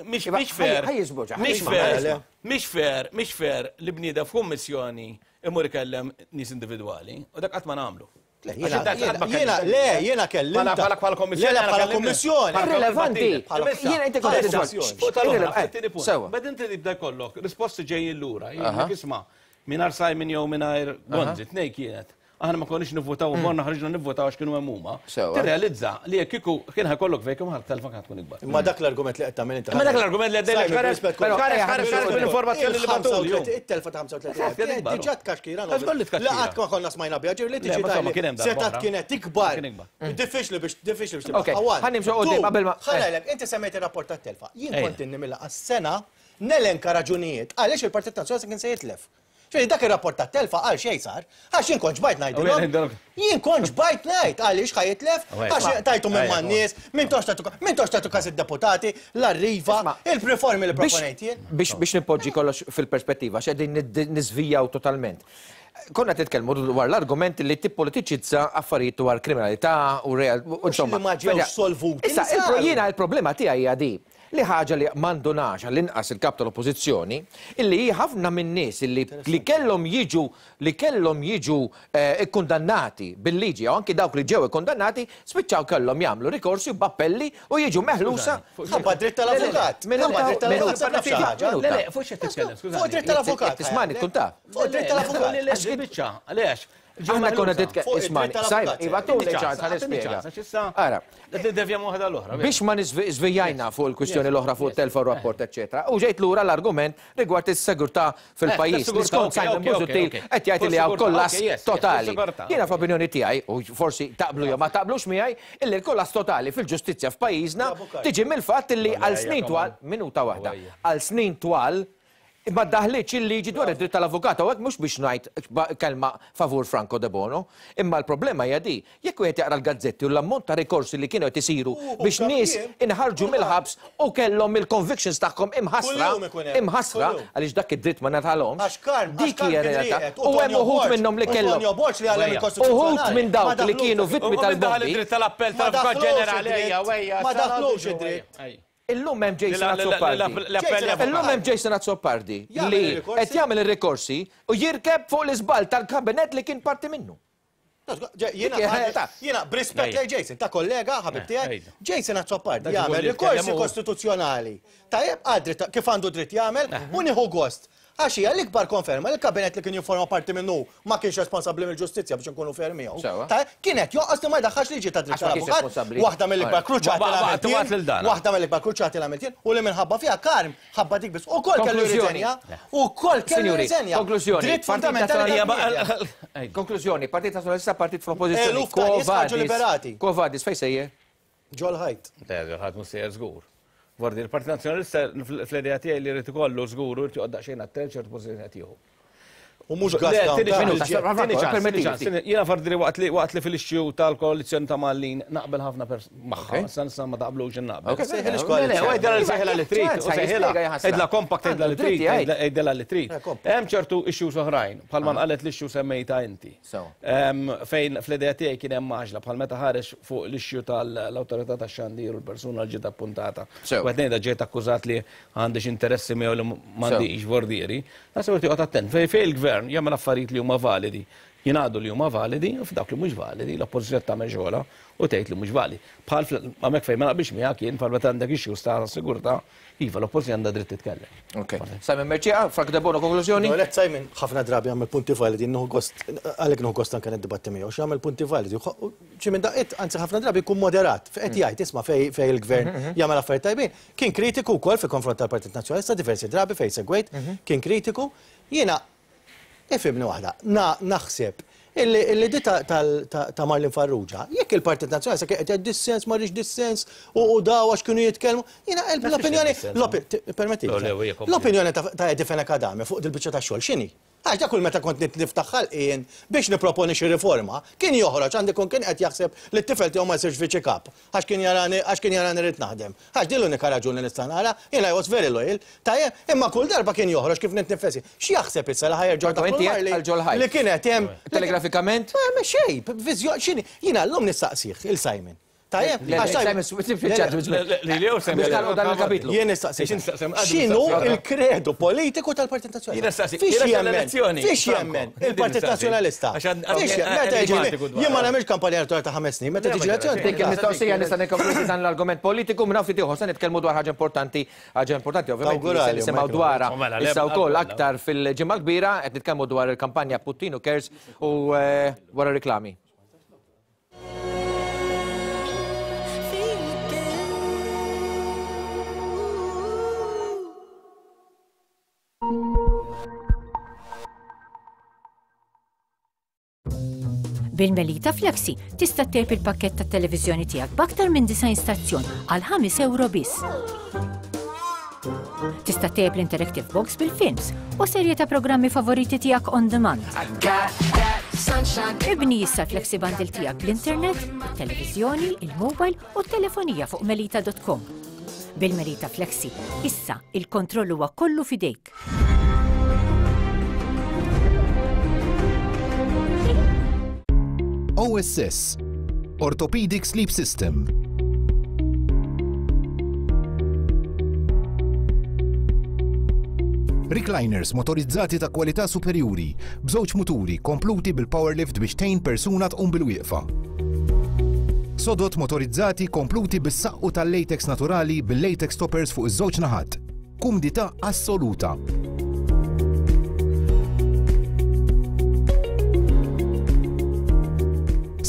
mhix mhix fair. Ħaj jiżboġa, ħaj Mhix jisma', fair. ħaj jisma'. Mhix fair, mhix fair li bniedem f'kummissjoni imur ikellem nies individwali u dak qatt ma nagħmlu. Le, Għax jiena- dak qatt ma jiena- kellimx. le, jiena kellimta. Bħala- Bħala bħala kommissjoni. Le, le, jiena bħala kellimni. kommissjoni. Bħala Irrelevanti. Bħala- Jiena inti kont Bħala- qed Fuq tal-oħra, Eh, fit-tieni punt. Sewa. Bad inti tibda jkollok risposti ġejjin lura. Jien isma' mingħajr Simon jew mingħajr Gonzi, tnej kienet. Aħna ma konniex nivvotaw, morna ħriġna nivvotaw għax kienu hemm huma. Sewa. Tirrealizza li jekk kieku kien ħajkollok vacuum ħadd telfa kienet tkun ikbar. Imma dak l-argument li qed tagħmel inti. Imma dak l-argument li għaddejlek Simon, ħares- rispett però- kollu. ħares- ħares- ħares mill-informazzjoni li bagħtuli, ju. It-telfa ta' 35. Eżatt, kien ikbar. Diġà tkaxkira. Għax kolli tkaxkira. La qatt ma konna smajna biha, ġifieri li Le, tiġi ma insomma, kien hemm darba Setat oħra. kienet ikbar. Kien ikbar. Diffiċli biex diffiċli biex Ok, tibqa' one. ħa nimxu quddiem Two, qabel ma- Ħa ngħidlek, inti semmejt ir-rapport tat-telfa. Jien Ejja. kont inni mill-laqgħa sena nelenka raġunijiet għaliex il-Partit Nazzjonalista kien se jitlef. Ġifieri dak ir-rapport tat-telfa għal xejn sar, għax jien kont ġbajt ngħidilhom. Jien kont ġbajt ngħid għaliex ħa jitlef, għax tajtu minn man-nies, minn tox tajtu minn tox tajtu każ id-deputati, l-arriva, il-riformi li proponejt jien. Biex biex nipoġġi kollox fil-perspettiva, x'qegħdin niżvijaw totalment. Konna titkellmu dwar l-argument li tippolitiċizza affarijiet dwar kriminalità u real. Insomma, li ma ġewx solvuti, Issa, li saru. jiena il-problema tiegħi hija di li ħaġa li m'għandunax għall-inqas il-kap tal-oppożizzjoni, illi hi ħafna minn nies illi li kellhom jiġu li kellhom jiġu ikkundannati bil-liġi jew anki dawk li ġew ikkundannati spiċċaw kellhom jagħmlu rikorsi b'appelli u jiġu meħlusa. Ħabba dritt tal-avukat. Ħabba dritt tal-avukat. Taf xi ħaġa? Le, le, fuq x'qed titkellem, skużani. Fuq dritt tal-avukat. Tismani tkun taf. Fuq dritt tal-avukat. Le, le, biċċa, għaliex? Aħna konna titkellem, ismani, Sajm, iva tuni ċans, ħa nispjega. Ara, Nidevjamu waħda l-oħra. biex ma niżvijajna fuq il-kwistjoni l-oħra fuq telfa u rapport, eċetera. U ġejt lura l-argument rigward is-sigurtà fil-pajjiż. tas-sigurtà, Skont ok, Simon ok, Busuttil ok, ok. qed jgħid li hawn Fuq kollass sigurtà, ok, yes, yes, totali. fuq sigurtà, Jiena ok. f'opinjoni tiegħi, u forsi taqblu jew ma taqblux miegħi, illi l-kollass totali fil-ġustizzja f'pajjiżna tiġi mill-fatt illi għal snin twal, minuta waħda, għal snin twal ma daħlitx il-liġi dwar id-dritt tal-avukat, u hekk mhux biex ngħid kelma favur Franco De Bono, imma l-problema hija di, jekk wieħed jaqra l-gazzetti u l-ammont ta' rikorsi li kienu qed isiru biex nies inħarġu mill-ħabs u kellhom il-convictions tagħhom imħassra, Kuljum ikun hemm, imħassra kuljum. għaliex dak id-dritt ma ngħatalhomx. Għax Karm, għax dik Karm hija kien realtà. rieqed, U hemm Tonio uħud Borg, minnhom li u kellhom. Tonio Borg li għallem Uħud il-Kostituzzjonali. minn dawk Ma li daħlux kienu id-dritt. vittmi U min daħal tal-bombi. id-dritt tal-appell Ma tal-Avukat daħlux Ġenerali, id-dritt. ejja, ejja. Ma daħlux id-dritt. Illum hemm Jason Azzopardi. L-appell Illum hemm Jason Azzopardi Jagħmel li ir-rikorsi. qed jagħmel ir-rikorsi u jirkeb fuq l-iżball tal-kabinet li kien parti minnu. Jiena, Dik hija realtà. jiena, b'rispett lej Jason, ta' kollega, ħabib tiegħi, ejja. Jason Azzopardi Dak jagħmel ikun li rikorsi jitkellem hu. kostituzzjonali. Tajjeb għal dritt kif għandu dritt jagħmel u nieħu gost. Għax hija l-ikbar konferma li l-kabinet li kien jifforma parti minnu ma kienx responsabbli mill-ġustizzja biex inkunu fair miegħu. Sewa. Tajjeb, kienet jonqos li ma jdaħħalx liġi ta' dritt Għax ma kienx tal-avukat, responsabbli. waħda mill-ikbar kruċati Ba- li ba- għamilt tibgħat jien, lil dan. waħda mill-ikbar kruċati li għamilt jien u li minħabba fiha Karm ħabba dik biss. Ukoll kellu Konklużjoni. jirriżenja, ukoll kellu Sinjuri, jirriżenja. konklużjoni. Dritt Partit fundamentali Nazzjonali- tal-bniedem. Konklużjoni, Partit Nazzjonalista, Partit fl-Oppożizzjoni. Eluf ta' nies ħarġu liberati. Quo vadis, fejn sejjer? Ġol ħajt. Le, ħadd mhux sejjer żgur. Vordi, il-Partit Nazzjonalista fl-idea tiegħi li jrid ikollu żgur u jrid joqgħod daqsxejn attent ċertu pożizzjoni qed jieħu. U mhux Le, gas down. tieni ta' ċans, il-ġet. tieni ċans, Permettili tieni ċans, ftit. tieni- Jiena fardi li waqt li waqt li fil-ixxu tal-koalizzjoni ta' Malin naqbel ħafna pers magħha, issa nista' ma taqblux naqbel. Ok. Sejħilix Le, le, koalizzjoni. u għidla li sejħilha li trid, Ċans, u sejħilha, jispjega jħassra. għidla compact għidla li Għandu trid, dritt jgħid. għidla li trid. Eh, compact. Hemm ċertu issues oħrajn, bħalma nqalet l-issue semmejta inti. Sewa. Fejn fl-idea tiegħi kien hemm għaġla bħal meta ħareġ fuq l-issue tal-awtorità tax-xandir u l-persuna li ġiet appuntata. Sewa. U qed ngħidha ġejt akkużat li għandix interessi miegħu li m'għandix vordieri. Naħseb irid joqgħod attent. Fejn fejn il-gvern jagħmel affarijiet li huma validi, jingħadu li huma validi, u f'dawk li mhux validi, l-oppożizzjoni tagħmel xogħolha u tgħid li mhux validi. Bħal fl- hemmhekk fejn ma naqbilx miegħek jien bħal meta għandek issues ta' sigurtà, iva l-oppożizzjoni għandha dritt titkellem. Ok. Simon Mercieca, Frank Debono, konklużjoni? No, let Simon, ħafna drabi għamel punti validi, nħu gost, għalek nħu gost anka niddibatti miegħu, x'għamel punti validi. Xi minn daqqiet, anzi ħafna drabi jkun moderat, qed jgħid isma' fej fej il-gvern jagħmel affarijiet tajbin. Kien kritiku wkoll fi konfront tal-Partit Nazzjonalista diversi drabi fejn segwejt, kien kritiku. Jiena ifhimni waħda, na naħseb Illi di ta' Marlene Farrugia, jekk il-Partit Nazzjonalista kien qed jgħid dissens ma rridx dissens u daw għax kienu jitkellmu, jiena l-opinjoni, permetti, l-opinjoni ta' Eddie Fenech Adami fuq dil-biċċa ta' xogħol x'inhi? Għax dak kull meta kont niftaħ ħalqi jien biex nipproponi xi riforma, kien joħroġ għandi jkun kien qed jaħseb li t-tifel tiegħu ma jsirx viċi kap għax kien jarani għax kien jarani rrid naħdem. Għax din l-unika raġuni nista' nara, jien I was very loyal, tajjeb, imma kull darba kien joħroġ kif nitnifes jien. X'jaħseb issa li ħa jerġgħu jdaħħlu Marley li kienet hemm. Telegrafikament? Ma xejn, viżjoni x'inhi. Jiena llum nistaqsih 'il Simon. Tajjeb, Jien nistaqsi. X'inhu l-kredu politiku tal-Partit Nazzjonalista? Fiex jemmen? Fiex jemmen il-Partit Nazzjonalista? Meta jiġi jien ma nagħmilx kampanja elettorali ta' ħames snin, meta tiġi elezzjoni. Dik il-mistoqsija nista' nikkonkludi dan l-argument politiku minn hawn ftit ieħor se nitkellmu dwar ħaġa importanti, ħaġa importanti ovvjament li se nisimgħu dwarha issa wkoll aktar fil-ġimgħa kbira qed nitkellmu dwar il-kampanja Puttinu Cares u wara riklami. Bil-Melita Flexi tista' ttejjeb il-pakkett tat-televiżjoni tiegħek b'aktar minn 90 stazzjon għal 5 euro biss. Tista' ttejjeb l-Interactive Box bil-films u serje ta' programmi favoriti tiegħek on demand. Ibni issa l-Flexi Bundle tiegħek bl-internet, it-televiżjoni, il-mobile u t-telefonija fuq melita.com. Bil-Melita Flexi, issa il-kontroll huwa kollu f'idejk. OSS Orthopedic Sleep System Recliners motorizzati ta' kwalità superjuri, b'żewġ muturi kompluti bil-power lift biex tgħin persuna tqum bil-wieqfa. Sodod motorizzati kompluti bis-saqqu tal-latex naturali bil-latex toppers fuq iż-żewġ naħat. Kumdità assoluta.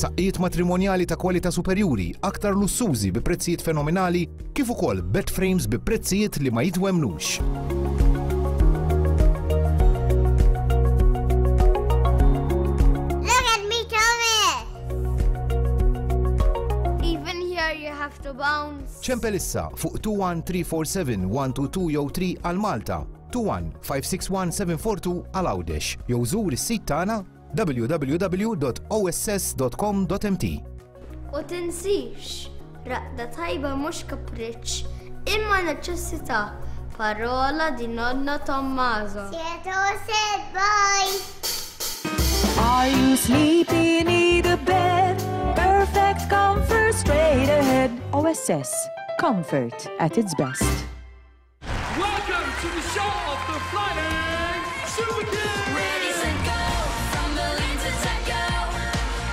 Saqqijiet matrimonjali ta' kwalità superjuri, aktar lussużi bi prezzijiet fenomenali, kif ukoll bed frames bi prezzijiet li ma jitwemmnux. Look at me, Thomas! Even here you have to bounce. Ċempel issa fuq 21347 122 jew 3 għal Malta, 21 561 742 għal Għawdex jew żur is-sit tagħna www.oss.com.mt. U tinsix, raqda tajba mhux kapriċċ, imma neċessità. Parola di nonno Tommaso. Siete bye! Are you sleepy? Need a bed? Perfect comfort straight ahead. OSS. Comfort at its best. Welcome to the show of the Flying Super Kids! Ready, set, go! From Berlin to Tokyo.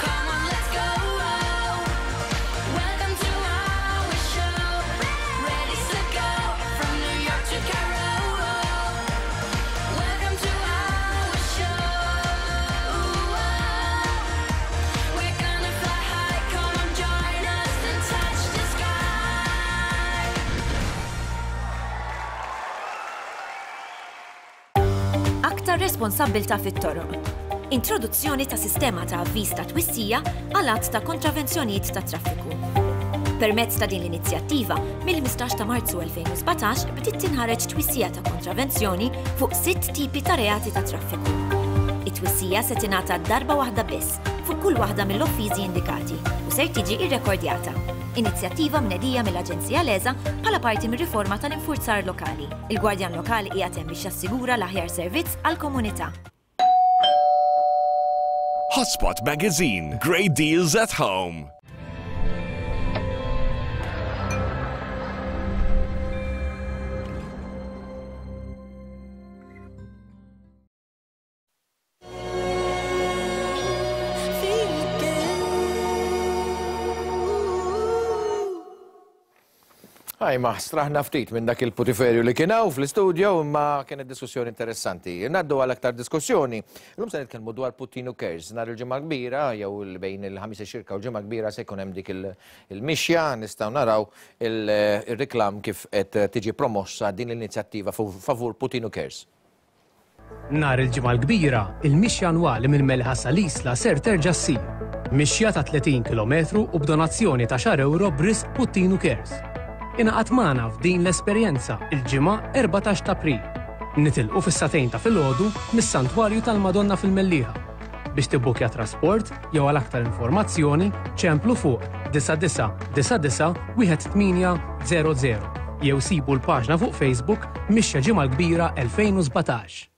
Come on, let's go! Welcome to our show. Ready, set, go! From New York to Cairo. Welcome to our show. We're gonna fly high. Come on, join us and touch the sky. Aktar responsabbiltà fit-toroq. Introduzzjoni ta' sistema ta' avviż ta' twissija għal għadd ta' kontravenzjonijiet tat-traffiku. Permezz ta' din l-inizjattiva, mill-15 ta' Marzu 2017 bdiet tinħareġ twissija ta' kontravenzjoni fuq sitt tipi ta' reati tat-traffiku. It-twissija se tingħata darba waħda biss fuq kull waħda mill-offiżi indikati u ser tiġi rrekordjata. Inizjattiva mnedija mill-Aġenzija LESA bħala parti mir-riforma tal-infurzar lokali. Il-Gwardjan Lokali qiegħed hemm biex jassigura l-aħjar servizz għall-komunità. Hotspot Magazine, great deals at home. Ajma, straħna ftit minn dak il-putiferju li kien hawn fl-istudio imma kienet diskussjoni interessanti. Ngħaddu għal aktar diskussjoni. Illum se nitkellmu dwar Puttinu Cares. Nhar il-Ġimgħa Kbira jew bejn il-Ħamis ix-Xirka u l-Ġimgħa Kbira se jkun hemm dik il-mixja, nistgħu naraw ir-reklam kif qed tiġi promossa din l-inizjattiva favur Puttinu Cares. Nhar il-Ġimgħa l-Kbira, il-mixja annwali mill-Mellieħa sal-Isla ser terġa' ssir. Mixja ta' 30 kilometru u b'donazzjoni ta' xar ewro b'risq Puttinu Cares. Ingħaqad magħna f'din l-esperjenza il-Ġimgħa 14 t'April. Nitilqu fis-sagħtejn ta' filgħodu mis-Santwarju tal-Madonna fil-Mellieħa. Biex tibbukja trasport jew għal aktar informazzjoni ċemplu fuq 9999 1800 jew sibu l-paġna fuq Facebook Mixja Ġimgħa l-Kbira 2017.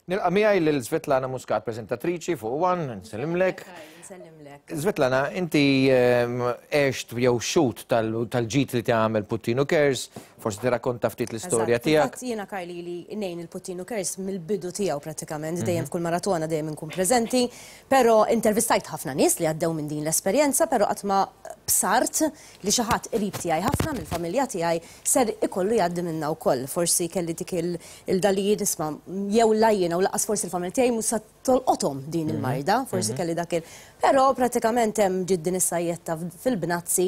Nilqa' miegħi lil Svetlana Muscat, preżentatriċi fuq One, nsellimlek. Nsellimlek. Svetlana, inti ehm, għext jew xut tal-ġid li tagħmel Puttinu Cares, forsi tirrakkonta ftit l-istorja tiegħek. Eżatt, jiena Karli li ngħin il-Puttinu Cares mill-bidu tiegħu prattikament, dejjem mhm. f'kull maratona dejjem inkun preżenti, però intervistajt ħafna nies li għaddew minn din l-esperjenza, però qatt ma bsart li xi ħadd qrib tiegħi ħafna mill-familja tiegħi ser ikollu jgħaddi minnha wkoll. Forsi kelli dik il-da li nisma' jew la jiena u lanqas forsi l-familja tiegħi mhux sa tolqothom din mhm. il-marda, forsi mhm. kelli dak il. Però pratikament hemm ġiet din is-sajjetta fil-bnazzi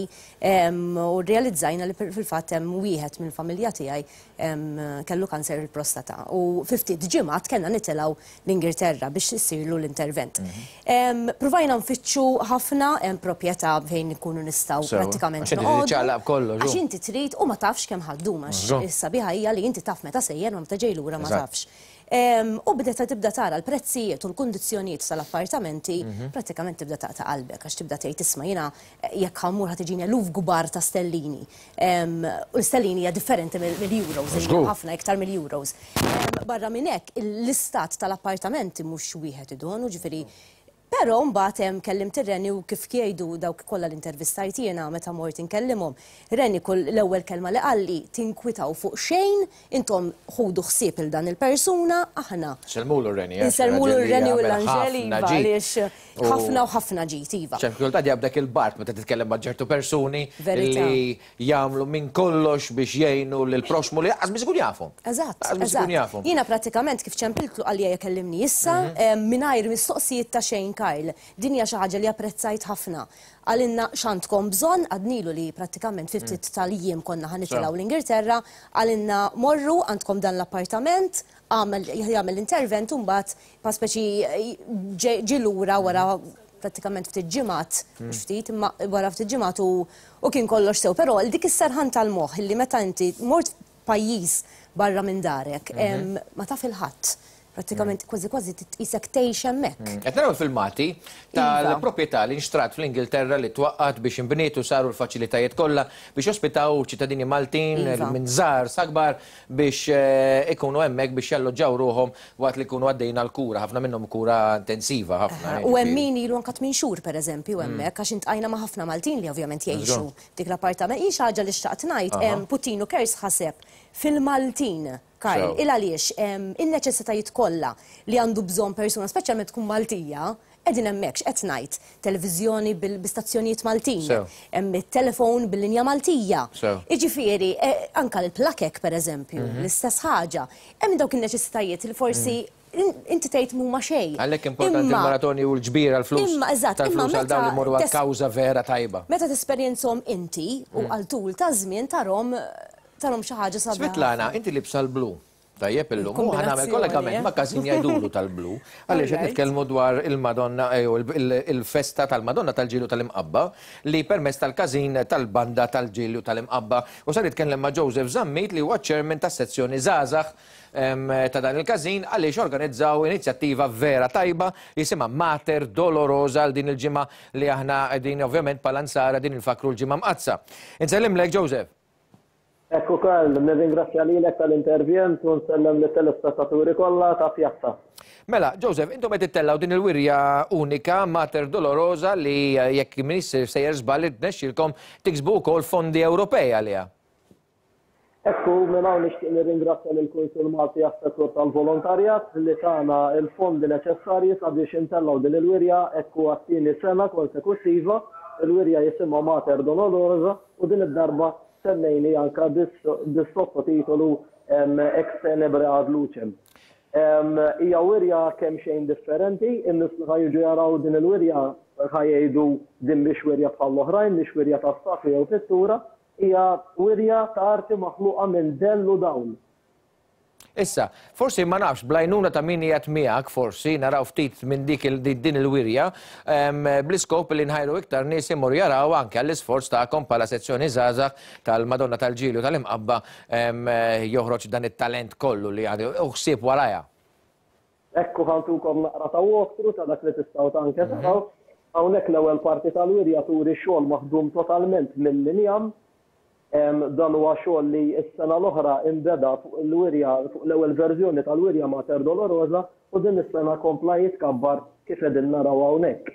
u rrealizzajna li fil-fatt hemm wieħed mill-familja tiegħi kellu kanser il-prostata. U fi ftit ġimgħat kellna nitilgħu l-Ingilterra biex issirlu l-intervent. Mhm. Provajna nfittxu ħafna hemm proprjetà fejn ikunu nistgħu prattikament. Għax inti trid u ma tafx kemm ħaddum għax is-sabiħa hija li inti taf meta sejjer ma meta ġej lura ma tafx. U bdeta tibda tara l-prezzijiet u l-kundizzjonijiet tal-appartamenti, mhm. prattikament tibda taqta' qalbek għax tibda tgħid isma' jiena eh, jekk ħammur ħa tiġini eluf kbar ta' stellini. U l-stellini hija differenti mill-euros, ħafna iktar mill-euros. Barra minn hekk, l-istat tal-appartamenti mhux wieħed idonu, ġifieri Però mbagħad hemm kellimt ir-Reni u kif jgħidu dawk kollha li intervistajt jiena meta mort inkellimhom, Reni kull l-ewwel kelma li qalli tinkwitaw fuq xejn, intom ħudu ħsieb il dan il-persuna, aħna. Insellmulu r-Reni. Insellmulu r-Reni u l-Anġeli iva għaliex ħafna u ħafna ġid iva. Ċertu kultant jaqbdek il-bard meta titkellem ma' ċertu persuni li jagħmlu minn kollox biex jgħinu lill-proxxmu li lanqas biss ikun jafhom. Eżatt. Lanqas biss ikun jafhom. Jiena prattikament kif ċempiltlu qalli ejja kellimni issa, mhm. mingħajr mistoqsijiet ta' xejn Karl. Din hija xi ħaġa li apprezzajt ħafna. Qalilna x'għandkom bżonn, għadnilu li prattikament fi ftit mm. tal-jiem konna ħa nitilgħu l-Ingilterra, qalilna morru għandkom dan l-appartament, għamel jagħmel l-intervent u mbagħad pa speċi ġie lura wara prattikament ftit ġimgħat, mhux mm. ftit, imma wara ftit ġimgħat u u kien kollox sew. Però dik is-serħan tal-moħħ li meta inti mort pajjiż barra minn darek, mhm. ma taf il-ħadd. Prattikament mm. kważi kważi tqisek tgħix hemmhekk. Mm. Qed naraw filmati iva. tal-proprjetà li nxtrat fl-Ingilterra li twaqqat biex inbniet u saru l-faċilitajiet kollha biex jospitaw ċittadini Maltin iva. minn żgħar sa kbar biex ikunu hemmhekk biex jalloġġaw ruħhom waqt li jkunu għaddejjin għall-kura, ħafna minnhom kura intensiva ħafna. U hemm min ilu anke tminn xhur pereżempju hemmhekk għax intqajna ma' ħafna Maltin li ovvjament jgħixu f'dik l-appartament. Hi xi ħaġa li xtaqt ngħid, Puttinu Cares ħaseb fil-Maltin, Karl, il għaliex in-neċessitajiet kollha li għandu bżonn persuna, speċjalment tkun Maltija, Qegħdin hemmhekk, x'qed ngħid? Televiżjoni bi stazzjonijiet Maltin. Hemm it-telefon bil-linja Maltija. Jiġifieri, anke l-plakek pereżempju, l-istess ħaġa. Hemm dawk in-neċessitajiet li forsi inti tgħid m'huma xejn. Għalhekk importanti l-maratoni u l-ġbir għall-flus. Imma eżatt, imma tal-flus għal dawn li jmorru għal kawża vera tajba. Meta tesperjenzhom inti u għal tul ta' żmien tarhom tarhom xi ħaġa sabiħa. Svetlana, inti libsa l-blu. Tajjeb illum, u ħa nagħmel kollegament ma' każin jgħidulu tal-blu, għaliex qed nitkellmu dwar il-Madonna jew il-festa tal-Madonna tal-Ġilju tal-Imqabba li permezz tal-każin tal-banda tal-Ġilju tal-Imqabba. U se nitkellem ma' Joseph Zammit li huwa ċ-chairman tas-sezzjoni żgħażagħ ta' dan il-każin għaliex organizzaw inizjattiva vera tajba li jisimha Mater Dolorosa għal din il-ġimgħa li aħna qegħdin ovvjament bħala Nsara qegħdin infakkru l-Ġimgħa Mqaddsa. Insellimlek Joseph. Ekku Karl, nirringrazzja lilek tal-intervjent u nsellem lit-telespettaturi kollha ta' Pjazza. Mela, Joseph, intom qed ittellgħu din il-wirja unika Mater Dolorosa li jekk m'iniex sejjer żball irnexxielkom tiksbu wkoll fondi Ewropej għaliha. Ekku, minn hawn nixtieq nirringrazzja lill-Kunsill Malti għas-Settur tal-Volontarjat li tana l-fondi neċessarji sabiex intellgħu din il-wirja ekku għat-tieni sena konsekuttiva. Il-wirja jisimha Mater Dolorosa u din id-darba semmejni anke bis-sottotitolu Ex tenebre ad lucem. Hija wirja kemxejn differenti, in-nies li ħa jiġu jaraw din il-wirja ħa jgħidu din mhix wirja bħall-oħrajn, mhix wirja ta' statwi jew pittura, hija wirja ta' arti maħluqa minn dell u dawl. Issa, forsi ma nafx, bl-għajnuna ta' min qiegħed miegħek forsi naraw ftit minn dik din il-wirja, bl-iskop li nħajru iktar nies imorru jaraw anke għall-isforz tagħkom bħala sezzjoni żgħażagħ tal-Madonna tal-Ġilju tal-Imqabba joħroġ dan it-talent kollu li għandu u ħsieb warajha. Ekku ħa ntukom naqra ta' walk-through ta' dak li tistgħu ta' anke taraw. Hawnhekk l-ewwel parti tal-wirja turi xogħol maħdum totalment mill-injam. Dan huwa xogħol li s-sena l-oħra inbeda fuq il-wirja, fuq l-ewwel verżjoni tal-wirja Mater Dolorosa u din is-sena kompla jitkabbar kif qegħdin naraw hawnhekk.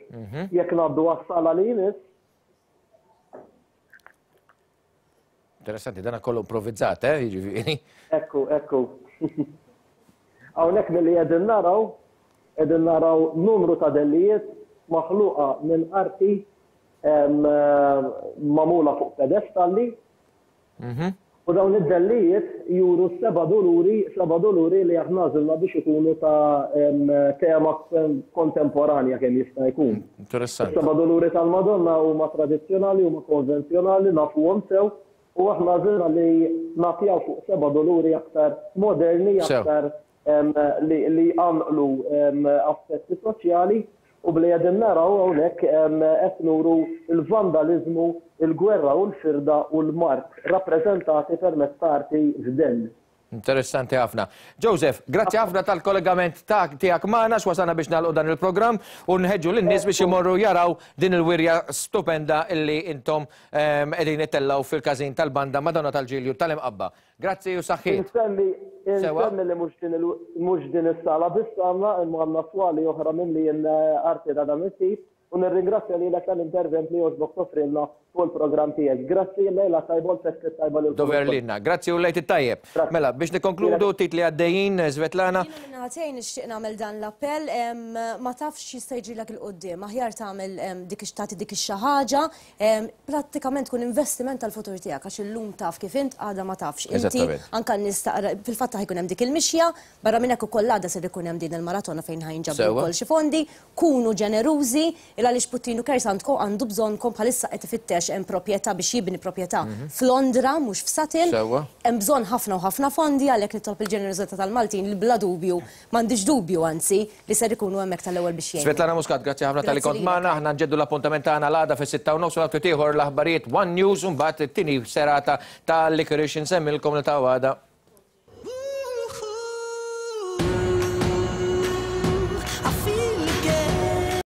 Jekk ngħaddu għas-sala li jmiss. Interessanti, dan kollu improvvizzat, eh, jiġifieri. Ekku, ekku. Hawnhekk milli qegħdin naraw, qegħdin naraw numru ta' dellijiet maħluqa minn arti magħmula fuq pedestalli. U dawn id-dellijiet juru s-seba' doluri, seba' doluri li aħna għażilna biex ikunu ta' tema kontemporanja kemm jista' jkun. Interessanti. Is-seba' doluri tal-Madonna huma tradizzjonali, huma konvenzjonali, nafuhom sew, u aħna għażilna li nagħtijaw fuq seba' doluri aktar moderni, aktar li jqanqlu aspetti soċjali u bli qegħdin naraw hawnhekk qed nuru l-vandaliżmu, il-gwerra u l-firda u l-mard rappreżentati permezz ta' arti f'dell. Interessanti ħafna. Joseph, grazzi ħafna tal-kollegament tiegħek magħna x'wasalna biex nagħlqu dan il-programm u nħeġġu lin-nies biex imorru jaraw din il-wirja stupenda illi intom qegħdin ittellgħu fil-każin tal-banda Madonna tal-Ġilju tal-Imqabba. Grazzi u saħħiet. Insemmi, insemmi li mhux din il, mhux din is-sala biss għandna, imma għandna swali oħra mimlijin arti ta' dan it-tip u nirringrazzja lilek tal-intervent li għoġbok toffrilna fuq il-programm tiegħek. Grazzi, lejla tajba u l-festi t-tajba lilkom Dover ukoll. lilna. Grazzi u l-Għid it-tajjeb. Mela, biex nikkonkludu, titli għaddejjin, Svetlana. Jiena minn naħa tiegħi nixtieq nagħmel dan l-appell, ma tafx x'jista' jiġrilek 'il quddiem, aħjar tagħmel dik tagħti dik ix-xi ħaġa Prattikament tkun investiment tal-futur tiegħek għax illum taf kif int għada ma tafx. Inti anke n-nies taqra fil-fatt ħa jkun hemm dik il-mixja, barra minn hekk ukoll għada ser ikun hemm din il-maratona fejn ħa jinġabru wkoll xi fondi. Kunu ġenerużi il għaliex Puttinu Cares għandkom għandu bżonnkom bħalissa qed ifittex hemm proprjetà biex jibni proprjetà f'Londra mhux f'Sutton. Hemm bżonn ħafna u ħafna fondi għalhekk nitlob il-ġenerożità tal-Maltin li bla dubju M'għandix dubju, anzi, li ser ikunu hemmhekk tal-ewwel biex jgħinu. Svetlana Muscat, grazzi ħafna talli kont magħna. Aħna nġeddu l-appuntament tagħna l-għada fis-6:30 u l-ftit ieħor l-aħbarijiet One News u mbagħad it-tieni serata ta' Licorice. Insemmilkom li ta' għada.